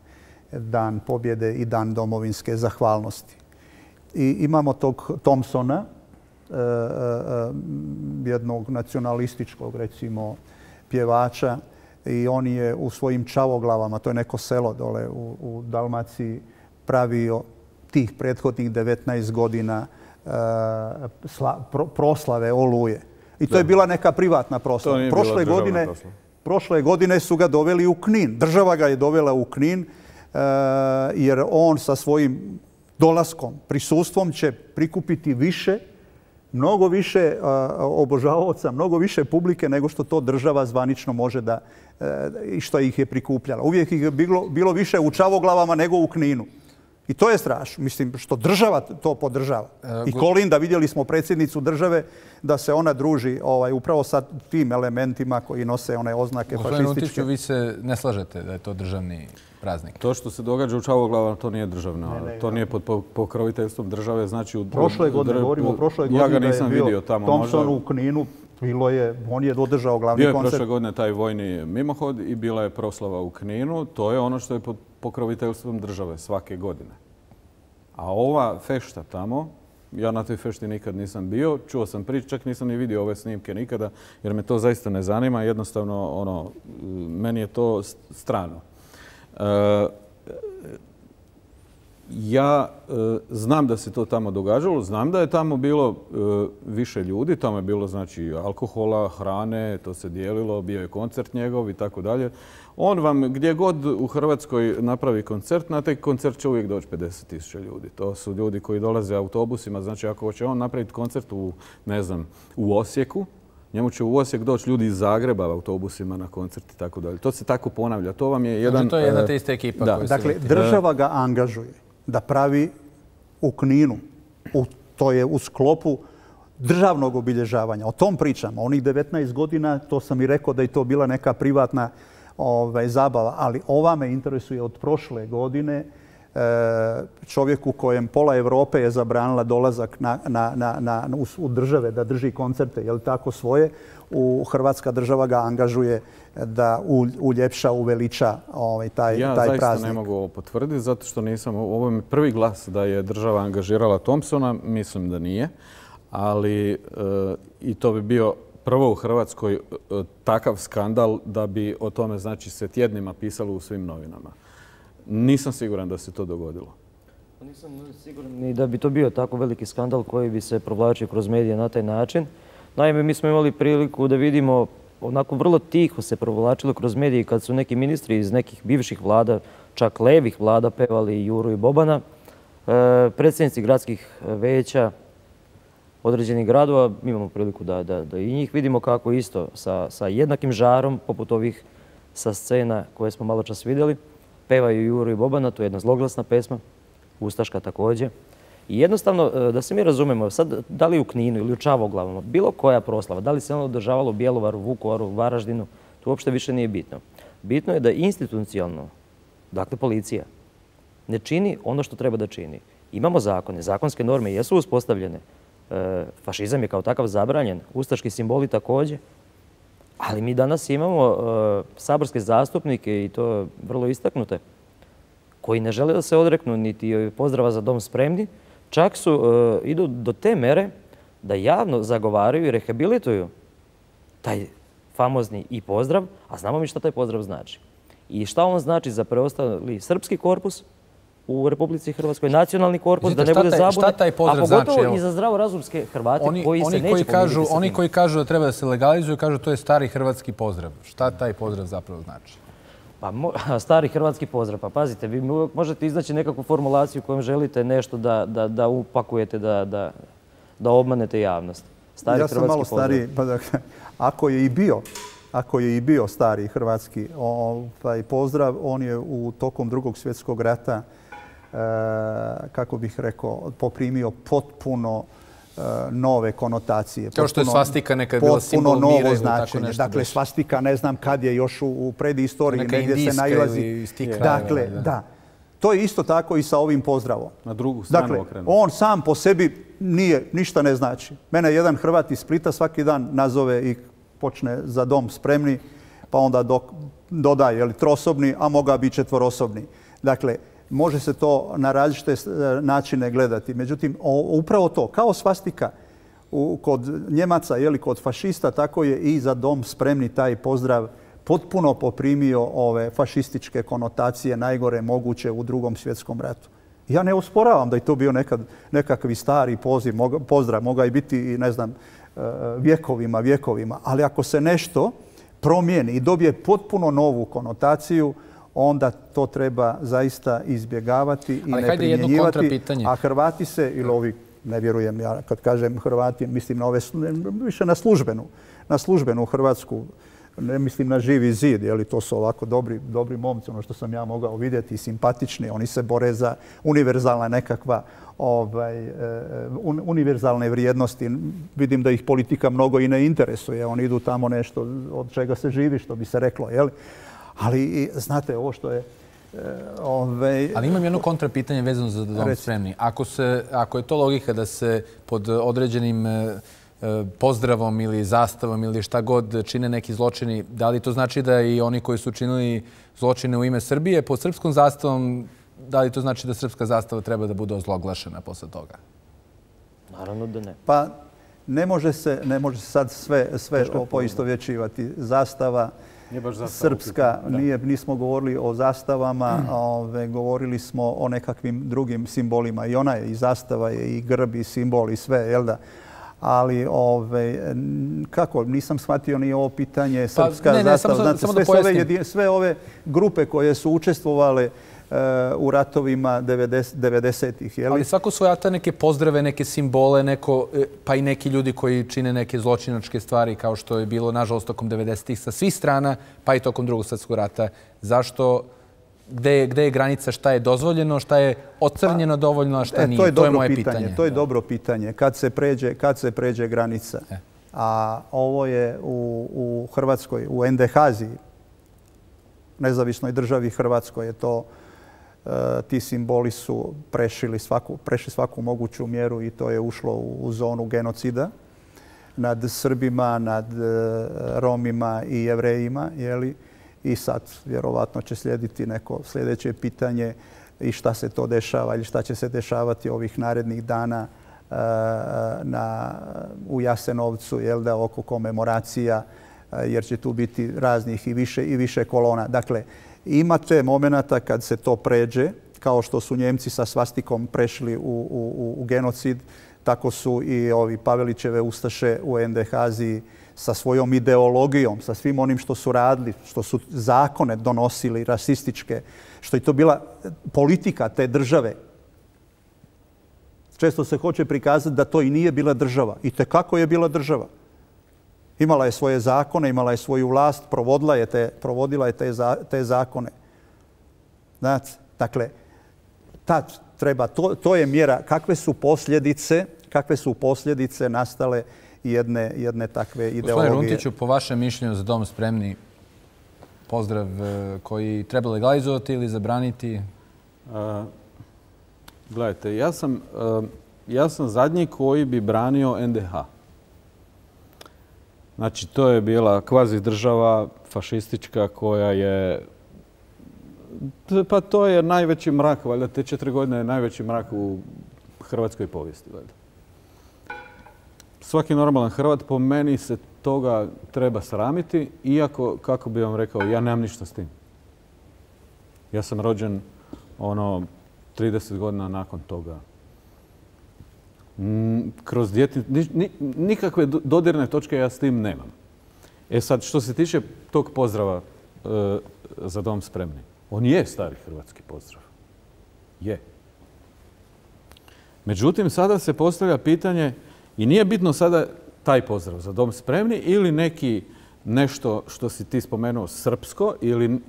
Dan pobjede i Dan domovinske zahvalnosti. I imamo tog Thompsona, jednog nacionalističkog, recimo, pjevača, i on je u svojim Čavoglavama, to je neko selo dole u Dalmaciji, pravio tih prethodnih 19 godina proslave Oluje. I to je bila neka privatna proslava. Prošle godine su ga doveli u Knin. Država ga je dovela u Knin jer on sa svojim dolaskom, prisustvom će prikupiti više mnogo više obožavaoca, mnogo više publike nego što to država zvanično može da, i što ih je prikupljala. Uvijek ih je bilo više u Čavoglavama nego u Kninu. I to je strašno. Mislim, što država to podržava. I Kolinda, vidjeli smo predsjednicu države da se ona druži upravo sa tim elementima koji nose one oznake fašističke. Gospodin Runtiću, vi se ne slažete da je to državni praznik? To što se događa u Čavoglavama, to nije državno. To nije pod pokroviteljstvom države. Znači, prošle godine, govorimo o prošle godine, ja ga nisam vidio tamo. Thompson u Kninu, on je održao glavni koncert. Bio je prošle godine taj vojni mimohod i bila je proslava u Kninu. To je ono što je pod pokroviteljstvom države svake godine. A ova fešta tamo, ja na toj fešti nikad nisam bio, čuo sam priču, čak nisam ni vidio ove snimke nikada, jer me to zaista ne zanima. Jednostavno, meni je to strano. Ja znam da se to tamo događalo, znam da je tamo bilo više ljudi, tamo je bilo znači alkohola, hrane, to se dijelilo, bio je koncert njegov i tako dalje. On vam gdje god u Hrvatskoj napravi koncert, na taj koncert će uvijek doći 50.000 ljudi. To su ljudi koji dolaze autobusima, znači ako će on napraviti koncert u, ne znam, u Osijeku, njemu će u Osijek doći ljudi iz Zagreba autobusima na koncert i tako dalje. To se tako ponavlja. To vam je jedan... To je jedna te iste ekipa. Da. Dakle, država ga angažuje da pravi u Kninu. To je u sklopu državnog obilježavanja. O tom pričamo. Onih 19 godina, to sam i rekao da je to bila neka privatna zabava. Ali ova me interesuje od prošle godine. Čovjeku kojem pola Evrope je zabranila dolazak u države da drži koncerte, je li tako svoje, Hrvatska država ga angažuje da uljepša, uveliča taj praznik. Ja zaista ne mogu ovo potvrditi, zato što nisam, ovo je prvi glas da je država angažirala Thompsona, mislim da nije, ali i to bi bio prvo u Hrvatskoj takav skandal da bi o tome znači se tjednima pisalo u svim novinama. Nisam siguran da se to dogodilo. Nisam siguran ni da bi to bio tako veliki skandal koji bi se provlačio kroz medije na taj način. Naime, mi smo imali priliku da vidimo, onako vrlo tiho se provlačilo kroz medije kad su neki ministri iz nekih bivših vlada, čak levih vlada, pevali Juru i Bobana. Predsjednici gradskih veća određenih gradova, imamo priliku da i njih vidimo kako isto sa jednakim žarom, poput ovih sa scena koje smo malo čas vidjeli, pevaju Juru i Bobana, to je jedna zloglasna pesma, ustaška također. I jednostavno, da se mi razumemo, sad da li u Kninu ili u Čavoglavama, bilo koja proslava, da li se ono održavalo u Bjelovaru, Vukovaru, Varaždinu, to uopšte više nije bitno. Bitno je da institucionalno, dakle policija, ne čini ono što treba da čini. Imamo zakone, zakonske norme jesu uspostavljene, fašizam je kao takav zabranjen, ustaški simboli također, ali mi danas imamo saborske zastupnike i to vrlo istaknute, koji ne žele da se odreknu niti pozdrava za dom spremni, čak idu do te mere da javno zagovaraju i rehabilituju taj famozni i pozdrav, a znamo mi šta taj pozdrav znači. I šta on znači za preostali srpski korpus u Republici Hrvatskoj, nacionalni korpus, da ne bude zabune, a pogotovo i za zdravorazumske Hrvate koji se neće pomiriti sa tim. Oni koji kažu da treba da se legalizuju, kažu to je stari hrvatski pozdrav. Šta taj pozdrav zapravo znači? Pa stari hrvatski pozdrav. Pa pazite, vi možete iznaći nekakvu formulaciju kojom želite nešto da upakujete, da obmanete javnost. Ja sam malo stariji, pa dakle, ako je i bio stari hrvatski pozdrav, on je u tokom Drugog svjetskog rata, kako bih rekao, poprimio potpuno nove konotacije. Kao što je svastika nekad bila simbol mira ili tako nešto. Dakle, svastika ne znam kad je još u predistoriji, negdje se nailazi. Dakle, da. To je isto tako i sa ovim pozdravom. Na drugu stranu okrenuo. On sam po sebi ništa ne znači. Mene jedan Hrvat iz Splita svaki dan nazove i počne za dom spremni, pa onda dodaje trosobni, a moga bi četvorosobni. Dakle, može se to na različite načine gledati. Međutim, upravo to, kao svastika kod Njemaca, kod fašista, tako je i za dom spremni taj pozdrav potpuno poprimio ove fašističke konotacije najgore moguće u Drugom svjetskom ratu. Ja ne osporavam da je to bio nekakvi stari pozdrav, mogao je biti i ne znam, vjekovima. Ali ako se nešto promijeni i dobije potpuno novu konotaciju, onda to treba zaista izbjegavati i ne primjenjivati. A Hrvati se, ili ovi ne vjerujem ja kad kažem Hrvati, mislim na više na službenu Hrvatsku, ne mislim na Živi zid, to su ovako dobri momci, ono što sam ja mogao vidjeti, simpatični, oni se bore za univerzalna nekakva univerzalne vrijednosti. Vidim da ih politika mnogo i ne interesuje, oni idu tamo nešto od čega se živi, što bi se reklo, ali znate, ovo što je Ali imam jedno kontrapitanje vezano za Dom spremni. Ako je to logika da se pod određenim pozdravom ili zastavom ili šta god čine neki zločini, da li to znači da i oni koji su činili zločine u ime Srbije pod srpskom zastavom, da li to znači da srpska zastava treba da bude ozloglašena posle toga? Naravno da ne. Pa ne može se sad sve poistovjećivati. Zastava srpska, nismo govorili o zastavama, govorili smo o nekakvim drugim simbolima. I ona je, i zastava je, i grb, i simbol, i sve, jel da? Ali, kako, nisam shvatio ni ovo pitanje srpska zastava. Znate, sve ove grupe koje su učestvovale u ratovima 90-ih. Ali svako svojata neke pozdrave, neke simbole, pa i neki ljudi koji čine neke zločinačke stvari, kao što je bilo, nažalost, tokom 90-ih sa svih strana, pa i tokom Drugog svjetskog rata. Zašto? Gde je granica, šta je dozvoljeno, šta je ocrnjeno dovoljno, a šta nije? To je moje pitanje. To je dobro pitanje. Kad se pređe granica? A ovo je u Hrvatskoj, u NDH-zi, nezavisnoj državi Hrvatskoj, je to ti simboli su prešli svaku moguću mjeru i to je ušlo u zonu genocida nad Srbima, nad Romima i Jevrejima. I sad vjerovatno će slijediti neko sljedeće pitanje i šta se to dešava ili šta će se dešavati ovih narednih dana u Jasenovcu oko komemoracija, jer će tu biti raznih i više kolona. Dakle, imate momenata kad se to pređe, kao što su Njemci sa svastikom prešli u genocid, tako su i ovi Pavelićeve ustaše u NDH-zi sa svojom ideologijom, sa svim onim što su radili, što su zakone donosili, rasističke, što je to bila politika te države. Često se hoće prikazati da to i nije bila država. I tekako je bila država. Imala je svoje zakone, imala je svoju vlast, provodila je te zakone. Znate, dakle, to je mjera. Kakve su posljedice nastale jedne takve ideologije? Gospodine Runtiću, po vašem mišljenju za Dom spremni, pozdrav koji treba legalizovati ili zabraniti? Gledajte, ja sam zadnji koji bi branio NDH. Znači, to je bila kvazi država fašistička koja je... Pa to je najveći mrak, valjda, te 4 godine je najveći mrak u hrvatskoj povijesti, valjda. Svaki normalan Hrvat po meni se toga treba sramiti, iako, kako bi vam rekao, ja nemam ništa s tim. Ja sam rođen 30 godina nakon toga. Kroz nikakve dodirne točke ja s tim nemam. Sad, što se tiče tog pozdrava za Dom spremni, on je stari hrvatski pozdrav. Je. Međutim, sada se postavlja pitanje, i nije bitno sada taj pozdrav za Dom spremni ili nešto što si ti spomenuo srpsko ili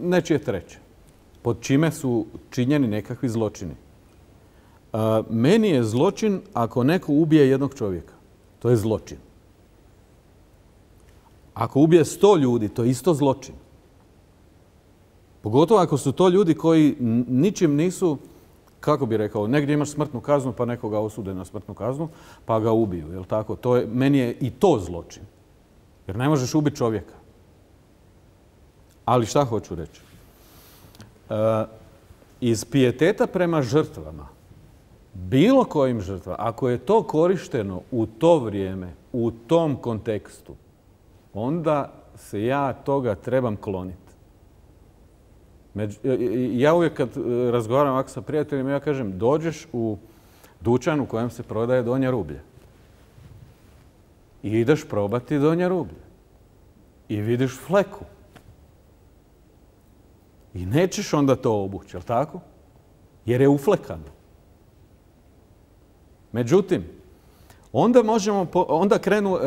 nečije treće, pod čime su činjeni nekakvi zločini. Meni je zločin ako neko ubije jednog čovjeka. To je zločin. Ako ubije 100 ljudi, to je isto zločin. Pogotovo ako su to ljudi koji ničim nisu, kako bi rekao, negdje imaš smrtnu kaznu pa nekoga osude na smrtnu kaznu pa ga ubiju. Jel tako? Meni je i to zločin. Jer ne možeš ubiti čovjeka. Ali šta hoću reći? Iz pijeteta prema žrtvama, bilo kojim žrtvama, ako je to korišteno u to vrijeme, u tom kontekstu, onda se ja toga trebam kloniti. Ja uvijek kad razgovaram ovako sa prijateljima, ja kažem, dođeš u dućan u kojem se prodaje donje rublje. I ideš probati donje rublje. I vidiš fleku. I nećeš onda to obući, jel tako? Jer je uflekano. Međutim, onda krenu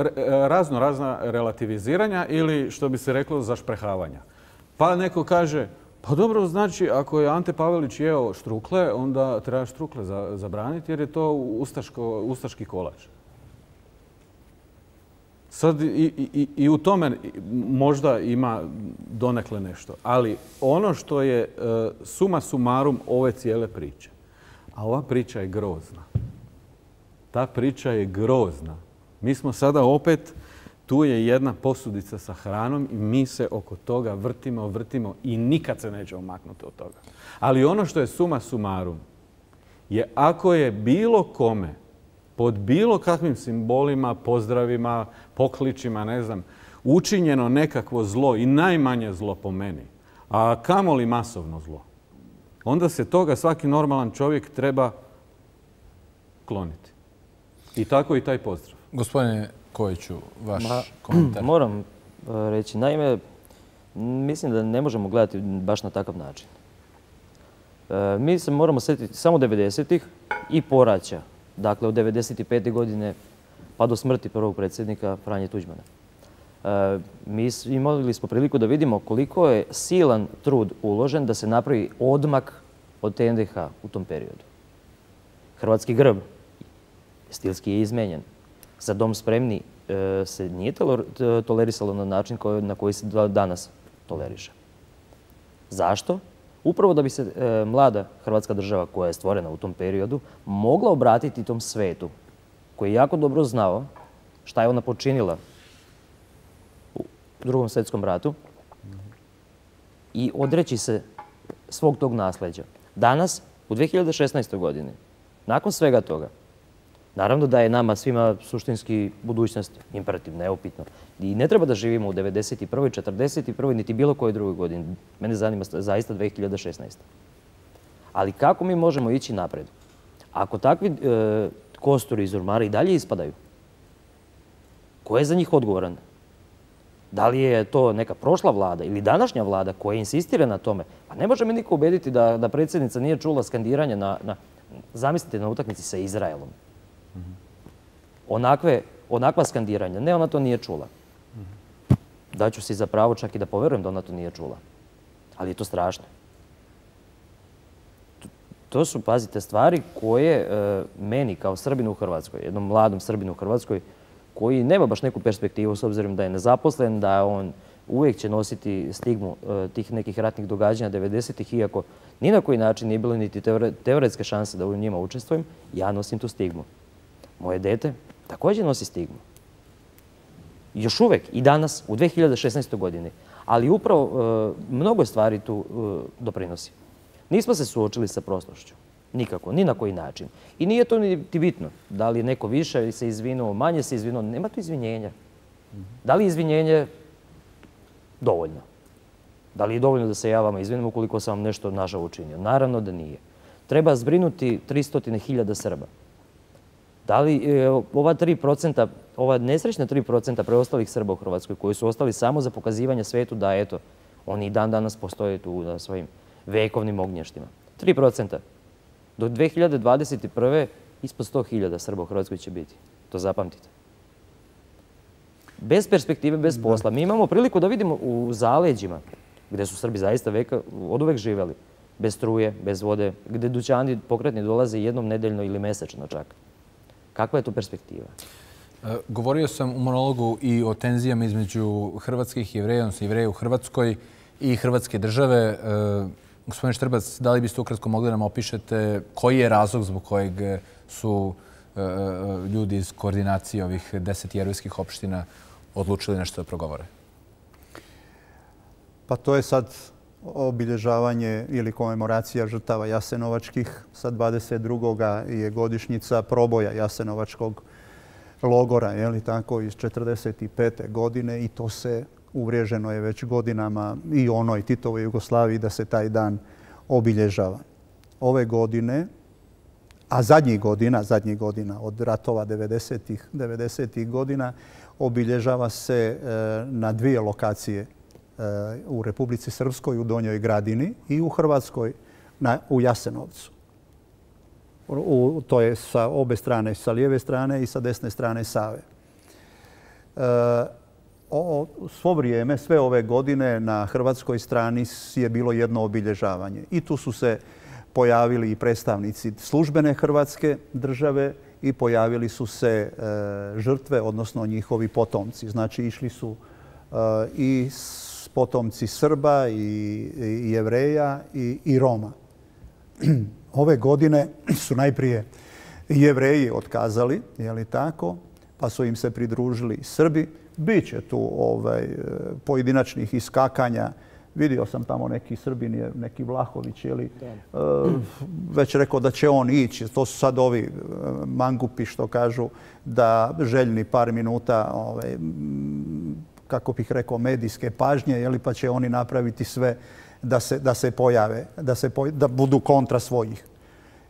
razna relativiziranja ili, što bi se reklo, zašprehavanja. Pa neko kaže, pa dobro, znači, ako je Ante Pavelić jeo štrukle, onda treba štrukle zabraniti jer je to ustaški kolač. Sad i u tome možda ima donekle nešto. Ali ono što je suma sumarum ove cijele priče, a ova priča je grozna. Ta priča je grozna. Mi smo sada opet, tu je jedna posudica sa hranom i mi se oko toga vrtimo i nikad se nećemo maknuti od toga. Ali ono što je suma sumarum je ako je bilo kome pod bilo kakvim simbolima, pozdravima, pokličima, ne znam, učinjeno nekakvo zlo i najmanje zlo po meni, a kamoli masovno zlo, onda se toga svaki normalan čovjek treba kloniti. I tako i taj pozdrav. Gospodine Kojiću, vaš komentar. Moram reći, naime, mislim da ne možemo gledati baš na takav način. Mi se moramo sjetiti samo 90-ih i poraća. Dakle, od 95. godine pa do smrti prvog predsjednika Franje Tuđmana. Imali smo priliku da vidimo koliko je silan trud uložen da se napravi odmak od NDH u tom periodu. Hrvatski grb stilski je izmenjen. Za Dom spremni se nije tolerisalo na način na koji se danas toleriše. Zašto? Upravo da bi se mlada Hrvatska država koja je stvorena u tom periodu mogla obratiti tom svetu koji je jako dobro znao šta je ona počinila u Drugom svjetskom ratu i odreći se svog tog nasljeđa. Danas, u 2016. godini, nakon svega toga, naravno da je nama svima suštinski budućnost imperativ, neupitno. I ne treba da živimo u 91., 41., niti bilo kojoj drugoj godini. Mene zanima zaista 2016. Ali kako mi možemo ići napred? Ako takvi kosturi iz ormara i dalje ispadaju, ko je za njih odgovoran? Da li je to neka prošla vlada ili današnja vlada koja insistira na tome? Pa ne može me niko ubediti da predsjednica nije čula skandiranje zamislite, na utakmici sa Izraelom. Onakva skandiranja. Ne, ona to nije čula. Daću si za pravo čak i da poverujem da ona to nije čula. Ali je to strašno. To su, pazite, stvari koje meni kao Srbinu u Hrvatskoj, jednom mladom Srbinu u Hrvatskoj, koji nema baš neku perspektivu s obzirom da je nezaposlen, da on uvijek će nositi stigmu tih nekih ratnih događanja 90-ih, iako ni na koji način nije bilo niti teoretske šanse da u njima učestvujem, ja nosim tu stigmu. Moje dete također nosi stigmu. Još uvijek i danas u 2016. godini. Ali upravo mnogo stvari tu doprinosi. Nismo se suočili sa prošlošću. Nikako, ni na koji način. I nije to niti bitno. Da li neko više se izvinuo, manje se izvinuo. Nema tu izvinjenja. Da li je izvinjenje dovoljno? Da li je dovoljno da se ja vama izvinim ukoliko sam vam nešto nažao učinio? Naravno da nije. Treba zbrinuti 300.000 Srba. Da li ova 3%, ova nesrećna 3% preostalih Srba u Hrvatskoj koji su ostali samo za pokazivanje svetu da, eto, oni i dan danas postoje tu na svojim vekovnim ognještima. 3%. Do 2021. ispod 100.000 Srba u Hrvatskoj će biti. To zapamtite. Bez perspektive, bez posla. Mi imamo priliku da vidimo u zaleđima, gdje su Srbi zaista od uvek živjeli, bez struje, bez vode, gdje dućani pokretni dolaze jednom nedeljno ili mesečno čak. Kakva je to perspektiva? Govorio sam u monologu i o tenzijama između hrvatskih jevreja, odnosno jevreja u Hrvatskoj i Hrvatske države. Gospodine Štrbac, da li biste ukratko mogli nam opišete koji je razlog zbog kojeg su ljudi iz koordinacije ovih 10 jevrejskih opština odlučili nešto da progovore? Pa to je sad obilježavanje ili komemoracija žrtava jasenovačkih. Sad 22. je godišnjica proboja jasenovačkog logora, je li tako, iz 1945. godine i to se uvriježeno je već godinama i onoj Titovoj Jugoslaviji da se taj dan obilježava. Ove godine, a zadnjih godina od ratova 90-ih godina, obilježava se na 2 lokacije u Republici Srpskoj, u Donjoj Gradini i u Hrvatskoj, u Jasenovcu. To je sa obe strane, sa lijeve strane i sa desne strane Save. Svo vrijeme, sve ove godine na hrvatskoj strani je bilo jedno obilježavanje. I tu su se pojavili i predstavnici službene Hrvatske države i pojavili su se žrtve, odnosno njihovi potomci. Znači, išli su i potomci Srba i Jevreja i Roma. Ove godine su najprije Jevreji otkazali, je li tako, pa su im se pridružili Srbi. Biće tu pojedinačnih iskakanja. Vidio sam tamo neki Srbin, neki Vlahović, već rekao da će on ići. To su sad ovi mangupi što kažu da željni par minuta, kako bih rekao, medijske pažnje, pa će oni napraviti sve da se pojave, da budu kontra svojih.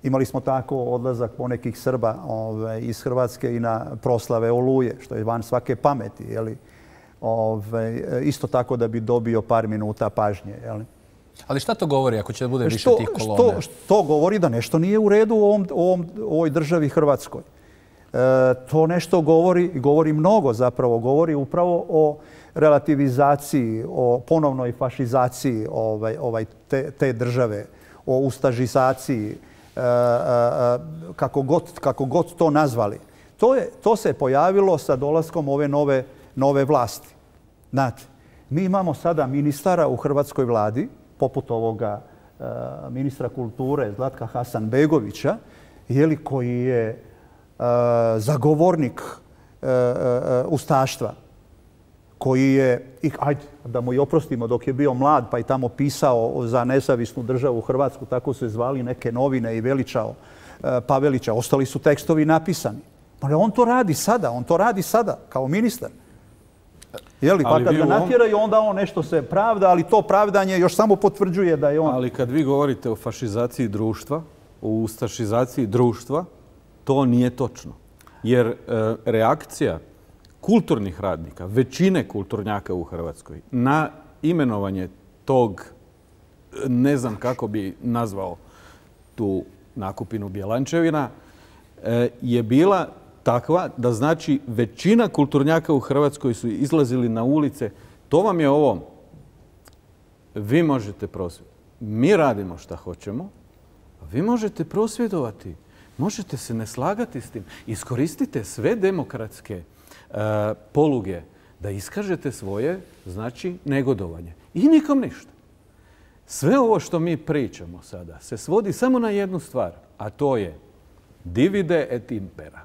Imali smo tako odlazak ponekih Srba iz Hrvatske i na proslave Oluje, što je van svake pameti. Isto tako da bi dobio par minuta pažnje. Ali šta to govori ako će da bude više tih kolona? To govori da nešto nije u redu u ovoj državi Hrvatskoj. To nešto govori mnogo zapravo. Govori upravo o relativizaciji, o ponovnoj fašizaciji te države, o ustašizaciji, kako god to nazvali. To se pojavilo sa dolaskom ove nove vlasti. Znate, mi imamo sada ministara u hrvatskoj vladi, poput ovoga ministra kulture Zlatka Hasanbegovića, koji je zagovornik ustaštva, koji je, ajde da mu i oprostimo, dok je bio mlad pa i tamo pisao za nezavisnu državu Hrvatsku, tako se zvali neke novine, i veličao Pavelića. Ostali su tekstovi napisani. On to radi sada kao ministar. Pa kad ga natjeraju, onda on nešto se pravda, ali to pravdanje još samo potvrđuje da je on... Ali kad vi govorite o fašizaciji društva, o ustašizaciji društva, to nije točno. Jer reakcija kulturnih radnika, većine kulturnjaka u Hrvatskoj, na imenovanje tog, ne znam kako bi nazvao tu nakupinu Bjelančevina, je bila takva da znači većina kulturnjaka u Hrvatskoj su izlazili na ulice. To vam je ovo. Vi možete prosvjedovati. Mi radimo šta hoćemo, a vi možete prosvjedovati. Možete se ne slagati s tim. Iskoristite sve demokratske poluge da iskažete svoje, znači, negodovanje. I nikom ništa. Sve ovo što mi pričamo sada se svodi samo na jednu stvar, a to je divide et impera.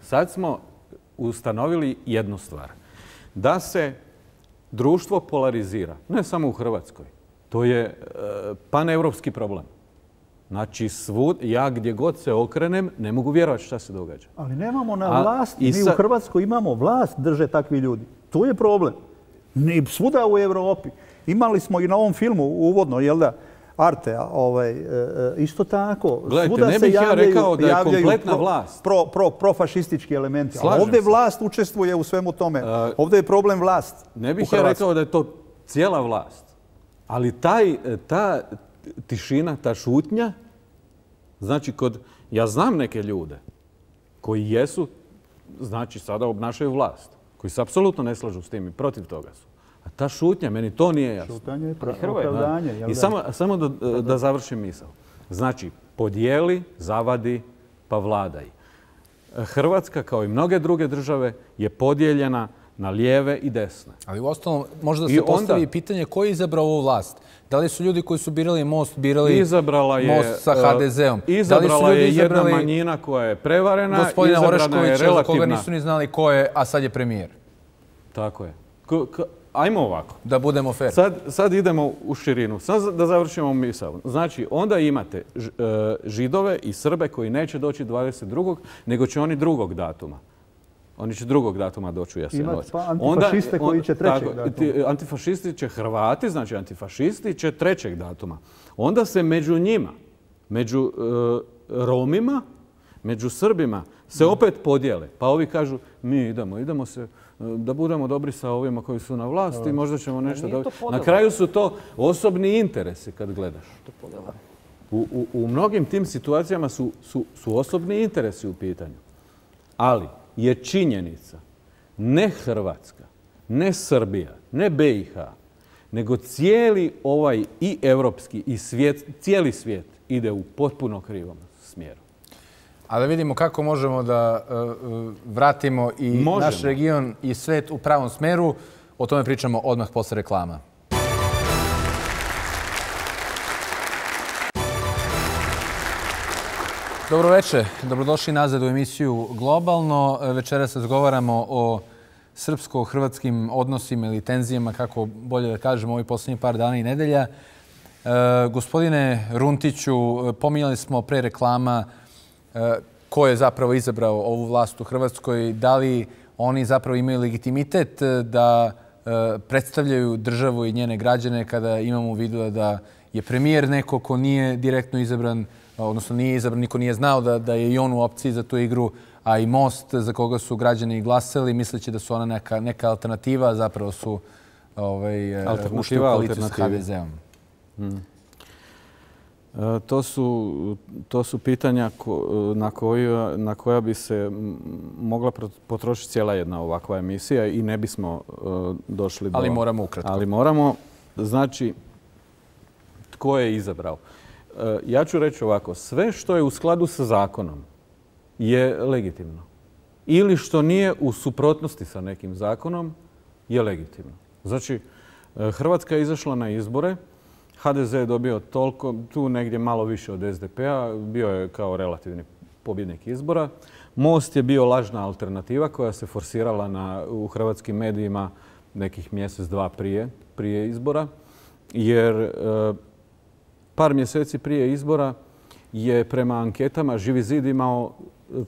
Sad smo ustanovili jednu stvar. Da se društvo polarizira, ne samo u Hrvatskoj. To je paneuropski problem. Znači, ja gdje god se okrenem, ne mogu vjerovati šta se događa. Ali nemamo na vlast, mi u Hrvatskoj imamo vlast, drže takvi ljudi. Tu je problem. Svuda u Europi. Imali smo i na ovom filmu uvodno, Arte, isto tako. Gledajte, ne bih ja rekao da je kompletna vlast. Profašistički elementi. A ovdje vlast učestvuje u svemu tome. Ovdje je problem vlast. Ne bih ja rekao da je to cijela vlast. Ali ta tišina, ta šutnja, znači ja znam neke ljude koji jesu, znači sada obnašaju vlast, koji se apsolutno ne slažu s tim i protiv toga su. A ta šutnja, meni to nije jasno. Šutanje je opravdanje. I samo da završim misao. Znači, podijeli, zavadi, pa vladaj. Hrvatska, kao i mnoge druge države, je podijeljena na lijeve i desne. Ali uostalom, možda se postavi pitanje ko je izabrao ovu vlast. Da li su ljudi koji su birali Most, birali Most sa HDZ-om? Izabrala je jedna manjina koja je prevarena, gospodina Oreškovića, za koga nisu ni znali ko je, a sad je premijer. Tako je. Ajmo ovako. Da budemo fair. Sad idemo u širinu. Sad da završimo misao. Znači, onda imate Židove i Srbe koji neće doći 22. nego će oni drugog datuma. Oni će drugog datuma doći u Jasenovac. Pa antifašiste koji će trećeg datuma. Antifašisti će Hrvati, znači antifašisti će trećeg datuma. Onda se među njima, među Romima, među Srbima se opet podijele. Pa ovi kažu mi idemo se da budemo dobri sa ovima koji su na vlasti i možda ćemo nešto dobiti. Na kraju su to osobni interesi kad gledaš. U mnogim tim situacijama su osobni interesi u pitanju. Ali je činjenica ne Hrvatska, ne Srbija, ne BiH, nego cijeli ovaj i evropski i cijeli svijet ide u potpuno krivom smjeru. A da vidimo kako možemo da vratimo i naš region i svet u pravom smeru. O tome pričamo odmah posle reklama. Dobro večer, dobrodošli nazad u emisiju Globalno. Večeras razgovaramo o srpsko-hrvatskim odnosima ili tenzijama, kako bolje da kažemo, ovih posljednjih par dana i nedelja. Gospodine Runtiću, pominjali smo pre reklama ko je zapravo izabrao ovu vlast u Hrvatskoj. Da li oni zapravo imaju legitimitet da predstavljaju državu i njene građane kada imamo u vidu da je premijer neko ko nije direktno izabran, odnosno nije izabran, niko nije znao da je i on u opciji za tu igru, a i Most za koga su građani glasali, misleći da su ona neka alternativa, zapravo su ušli u koaliciju s HDZ-om. To su pitanja na koja bi se mogla potrošiti cijela jedna ovakva emisija i ne bismo došli do... Ali moramo ukratko. Ali moramo. Znači, tko je izabrao? Ja ću reći ovako, sve što je u skladu sa zakonom je legitimno. Ili što nije u suprotnosti sa nekim zakonom je legitimno. Znači, Hrvatska je izašla na izbore, HDZ je dobio toliko, tu negdje malo više od SDP-a, bio je kao relativni pobjednik izbora. Most je bio lažna alternativa koja se forsirala u hrvatskim medijima nekih mjesec, dva prije izbora, jer par mjeseci prije izbora je prema anketama Živi zid imao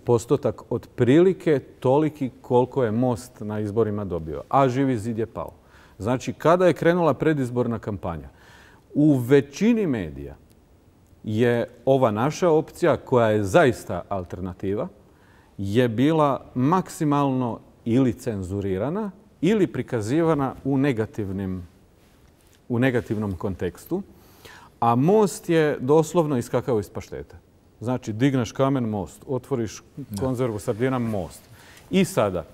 postotak otprilike toliki koliko je Most na izborima dobio, a Živi zid je pao. Znači, kada je krenula predizborna kampanja, u većini medija je ova naša opcija, koja je zaista alternativa, je bila maksimalno ili cenzurirana ili prikazivana u negativnom kontekstu, a Most je doslovno iskakao iz paštete. Znači, digneš kamen, Most, otvoriš konzervu sardina, Most. I sada,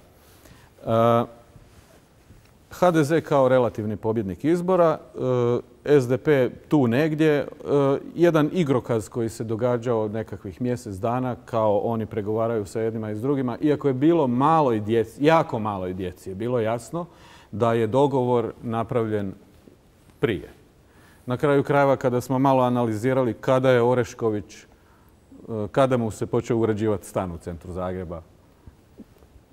HDZ kao relativni pobjednik izbora, SDP tu negdje, jedan igrokaz koji se događao nekakvih mjesec dana, kao oni pregovaraju sa jednima i s drugima, iako je bilo malo i djeci, jako malo i djeci, je bilo jasno da je dogovor napravljen prije. Na kraju krajeva, kada smo malo analizirali kada je Orešković, kada mu se počeo uređivati stan u centru Zagreba,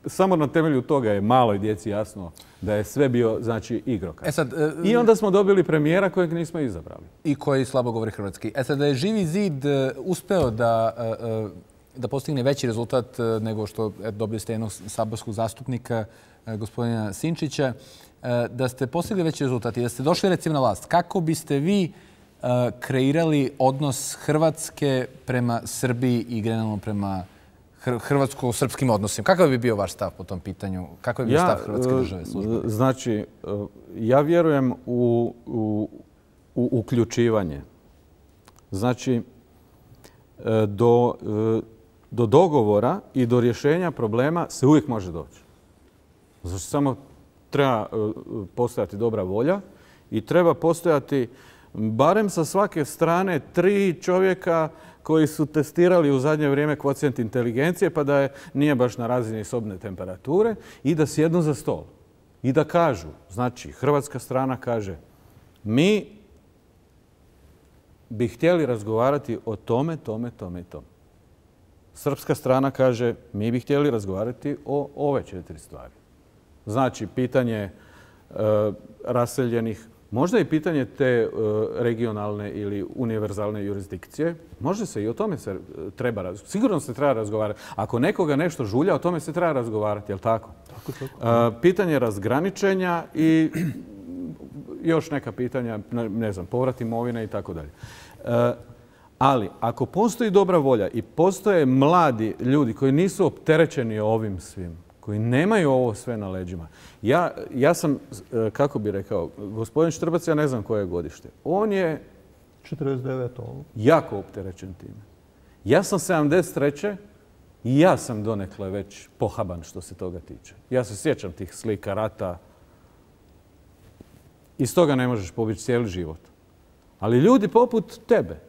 samo na temelju toga je maloj djeci jasno da je sve bio, znači, igrokaz. I onda smo dobili premijera kojeg nismo izabrali. I koji slabo govori hrvatski. Sad, da je Živi zid uspeo da postigne veći rezultat nego što dobili ste jednog saborskog zastupnika, gospodina Sinčića, da ste postigli veći rezultat i da ste došli recimo na vlast, kako biste vi kreirali odnos Hrvatske prema Srbiji i generalno prema hrvatsko-srpskim odnosima? Kakav bi bio vaš stav po tom pitanju? Kakav bi bio stav Hrvatske države? Znači, ja vjerujem u uključivanje. Znači, do dogovora i do rješenja problema se uvijek može doći. Znači, samo treba postojati dobra volja i treba postojati barem sa svake strane 3 čovjeka koji su testirali u zadnje vrijeme kvocijent inteligencije, pa da nije baš na razini sobne temperature, i da sjednu za stol. I da kažu, znači, hrvatska strana kaže, mi bi htjeli razgovarati o tome, tome, tome i tome. Srpska strana kaže, mi bi htjeli razgovarati o ove 4 stvari. Znači, pitanje raseljenih, možda i pitanje te regionalne ili univerzalne jurisdikcije. Možda se i o tome se treba razgovarati. Sigurno se treba razgovarati. Ako nekoga nešto žulja, o tome se treba razgovarati, je li tako? Pitanje razgraničenja i još neka pitanja, ne znam, povrat imovine i tako dalje. Ali ako postoji dobra volja i postoje mladi ljudi koji nisu opterećeni ovim svim, koji nemaju ovo sve na leđima. Ja sam, kako bi rekao, gospodin Štrbac, ja ne znam koje je godište. On je 49. Jako opterećen time. Ja sam 73. i ja sam donekle već pohaban što se toga tiče. Ja se sjećam tih slika rata. Iz toga ne možeš pobjeći cijeli život. Ali ljudi poput tebe,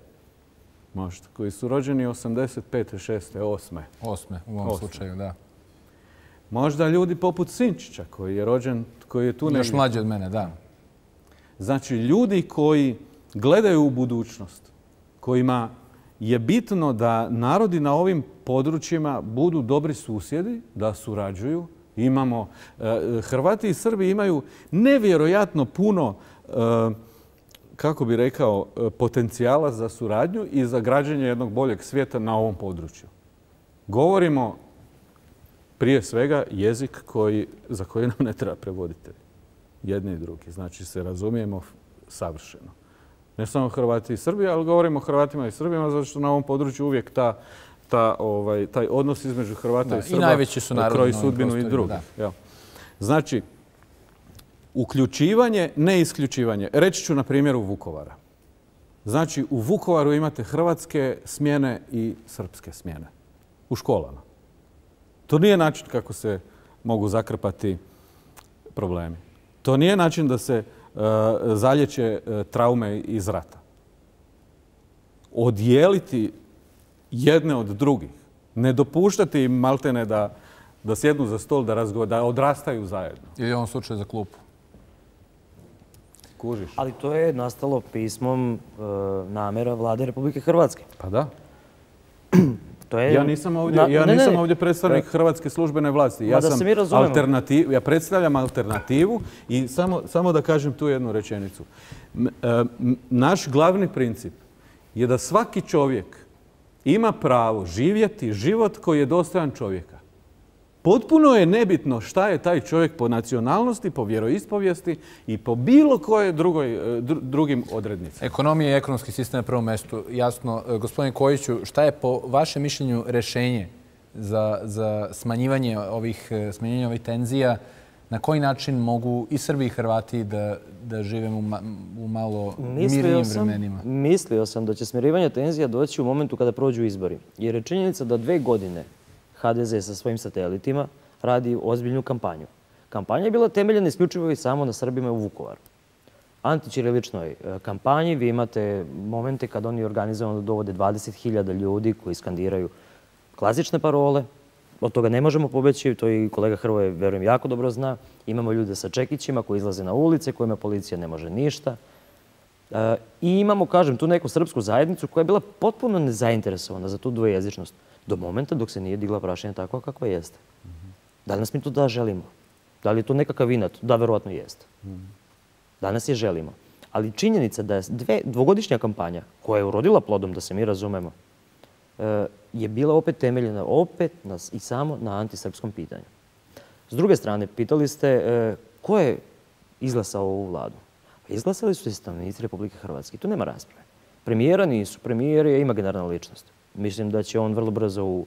možda, koji su rođeni 85. 6. 8. 8. u ovom slučaju, da. Možda ljudi poput Sinčića, koji je rođen, koji je tu negdje. Još mlađi od mene, da. Znači, ljudi koji gledaju u budućnost, kojima je bitno da narodi na ovim područjima budu dobri susjedi, da surađuju. Imamo, Hrvati i Srbi imaju nevjerojatno puno, kako bi rekao, potencijala za suradnju i za građenje jednog boljeg svijeta na ovom području. Govorimo prije svega jezik za koji nam ne treba prevoditelj. Jedni i drugi. Znači se razumijemo savršeno. Ne samo Hrvati i Srbi, ali govorimo o Hrvatima i Srbima, zato što na ovom području uvijek taj odnos između Hrvata i Srba kroji sudbinu i drugih. Znači, uključivanje, ne isključivanje. Reći ću na primjeru Vukovara. Znači, u Vukovaru imate hrvatske smjene i srpske smjene u školama. To nije način kako se mogu zakrpati problemi. To nije način da se zalječe traume iz rata. Odijeliti jedne od drugih. Ne dopuštati im maltene da sjednu za stol, da odrastaju zajedno. Ili u ovom slučaju za klupu. Kužiš. Ali to je nastalo pismom namjera Vlade Republike Hrvatske. Pa da. Ja nisam ovdje predstavnik hrvatske službene vlasti. Ja predstavljam alternativu i samo da kažem tu jednu rečenicu. Naš glavni princip je da svaki čovjek ima pravo živjeti život koji je dostojan čovjeka. Potpuno je nebitno šta je taj čovjek po nacionalnosti, po vjeroispovijesti i po bilo koje drugim odrednicama. Ekonomija i ekonomski sistem na prvom mjestu. Jasno, gospodine Kojiću, šta je po vašem mišljenju rješenje za smanjivanje ovih tenzija? Na koji način mogu i Srbi i Hrvati da žive u malo mirnijim vremenima? Mislio sam da će smirivanje tenzija doći u momentu kada prođu izbori. Jer je činjenica da 2 godine HDZ sa svojim satelitima radi ozbiljnu kampanju. Kampanja je bila temeljena isključivo i samo na Srbima u Vukovaru. Antićiriličnoj kampanji vi imate momente kad oni organizovano dovode 20.000 ljudi koji skandiraju klasične parole. Od toga ne možemo pobeći, to i kolega Hrvoje, verujem, jako dobro zna. Imamo ljude sa čekićima koji izlaze na ulice, kojima policija ne može ništa. I imamo, kažem, tu neku srpsku zajednicu koja je bila potpuno nezainteresovana za tu dvojezičnost. Do momenta dok se nije digla prašina takva kakva jeste. Da li nas mi to da želimo? Da li je to nekakav inat? Da, verovatno jeste. Danas je želimo. Ali činjenica da je dvogodišnja kampanja koja je urodila plodom, da se mi razumemo, je bila opet temeljena i samo na antisrpskom pitanju. S druge strane, pitali ste ko je izglasao ovu vladu? Izglasali su se stanovnici Republike Hrvatske. Tu nema rasprave. Premijera nisu. Premijer je imaginarna ličnost. Mislim da će on vrlo brzo u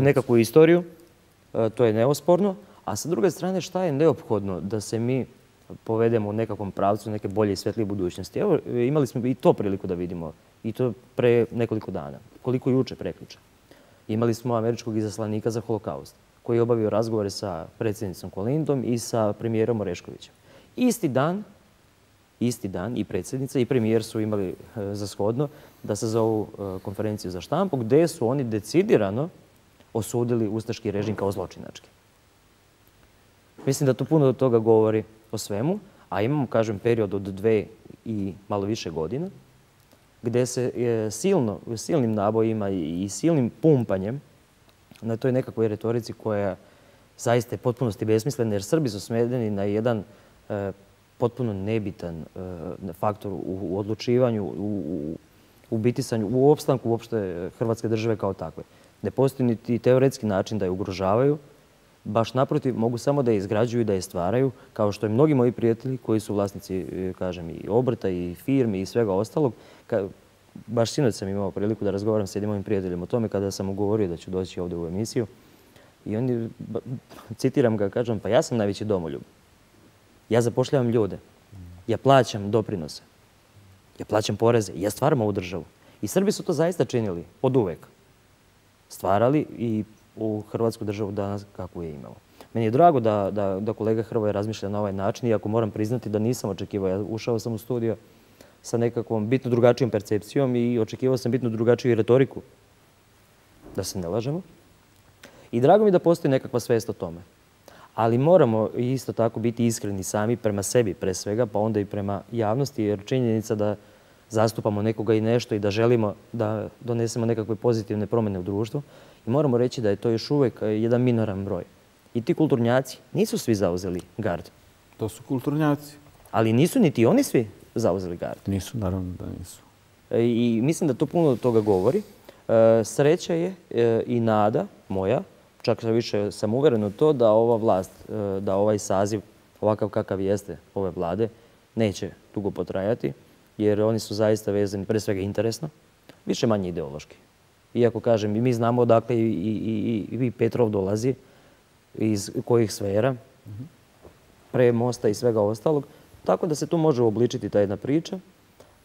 nekakvu istoriju. To je neosporno. A sa druge strane, šta je neophodno da se mi povedemo u nekakvom pravcu neke bolje i svetlije budućnosti? Evo, imali smo i to priliku da vidimo. I to pre nekoliko dana. Koliko juče, prekjuče. Imali smo američkog izaslanika za holokaust, koji je obavio razgovore sa predsjednicom Kolindom i sa premijerom Oreškovićem. Isti dan i predsjednica i premijer su imali za shodno da sazovu konferenciju za štampu gdje su oni decidirano osudili ustaški režim kao zločinački. Mislim da to puno od toga govori o svemu, a imamo, kažem, period od 2 i malo više godina gdje se silnim nabojima i silnim pumpanjem na toj nekakvoj retorici koja zaista je potpunosti besmislena, jer Srbi su svedeni na jedan potpuno nebitan faktor u odlučivanju, u bitisanju, u opstanku uopšte Hrvatske države kao takve. Ne postoji niti teoretski način da je ugrožavaju, baš naprotiv mogu samo da je izgrađuju i da je stvaraju, kao što i mnogi moji prijatelji koji su vlasnici, kažem, i obrta i firmi i svega ostalog. Baš sinoć sam imao priliku da razgovaram s jednim mojim prijateljem o tome kada sam mu govorio da ću doći ovdje u emisiju. I oni, citiram ga, kažem, pa ja sam najveći domoljub. Ja zapošljavam ljude. Ja plaćam doprinose. ja plaćam poreze, ja stvaram ovu državu. I Srbi su to zaista činili, od uvek. Stvarali i u Hrvatsku državu danas kakvu je imamo. Meni je drago da kolega Hrvoje razmišlja na ovaj način, iako moram priznati da nisam očekivao. Ja ušao sam u studio sa nekakvom bitno drugačijom percepcijom i očekivao sam bitno drugačiju retoriku. Da se ne lažemo. I drago mi da postoji nekakva svest o tome. Ali moramo isto tako biti iskreni sami prema sebi pre svega, pa onda i prema javnosti, jer činjenica da zastupamo nekoga i nešto i da želimo da donesemo nekakve pozitivne promjene u društvu. I moramo reći da je to još uvijek jedan minoran broj. I ti kulturnjaci nisu svi zauzeli gard. To su kulturnjaci. Ali nisu niti oni svi zauzeli gard. Nisu, naravno da nisu. I mislim da to puno toga govori. Sreća je i nada moja, čak više sam uveren u to da ova vlast, da ovaj saziv, ovakav kakav jeste ove vlade, neće dugo potrajati, jer oni su zaista vezani pre svega interesno, više manje ideološki. Iako kažem, mi znamo odakle i Petrov dolazi, iz kojih sfera, pre mosta i svega ostalog, tako da se tu može uobličiti ta jedna priča.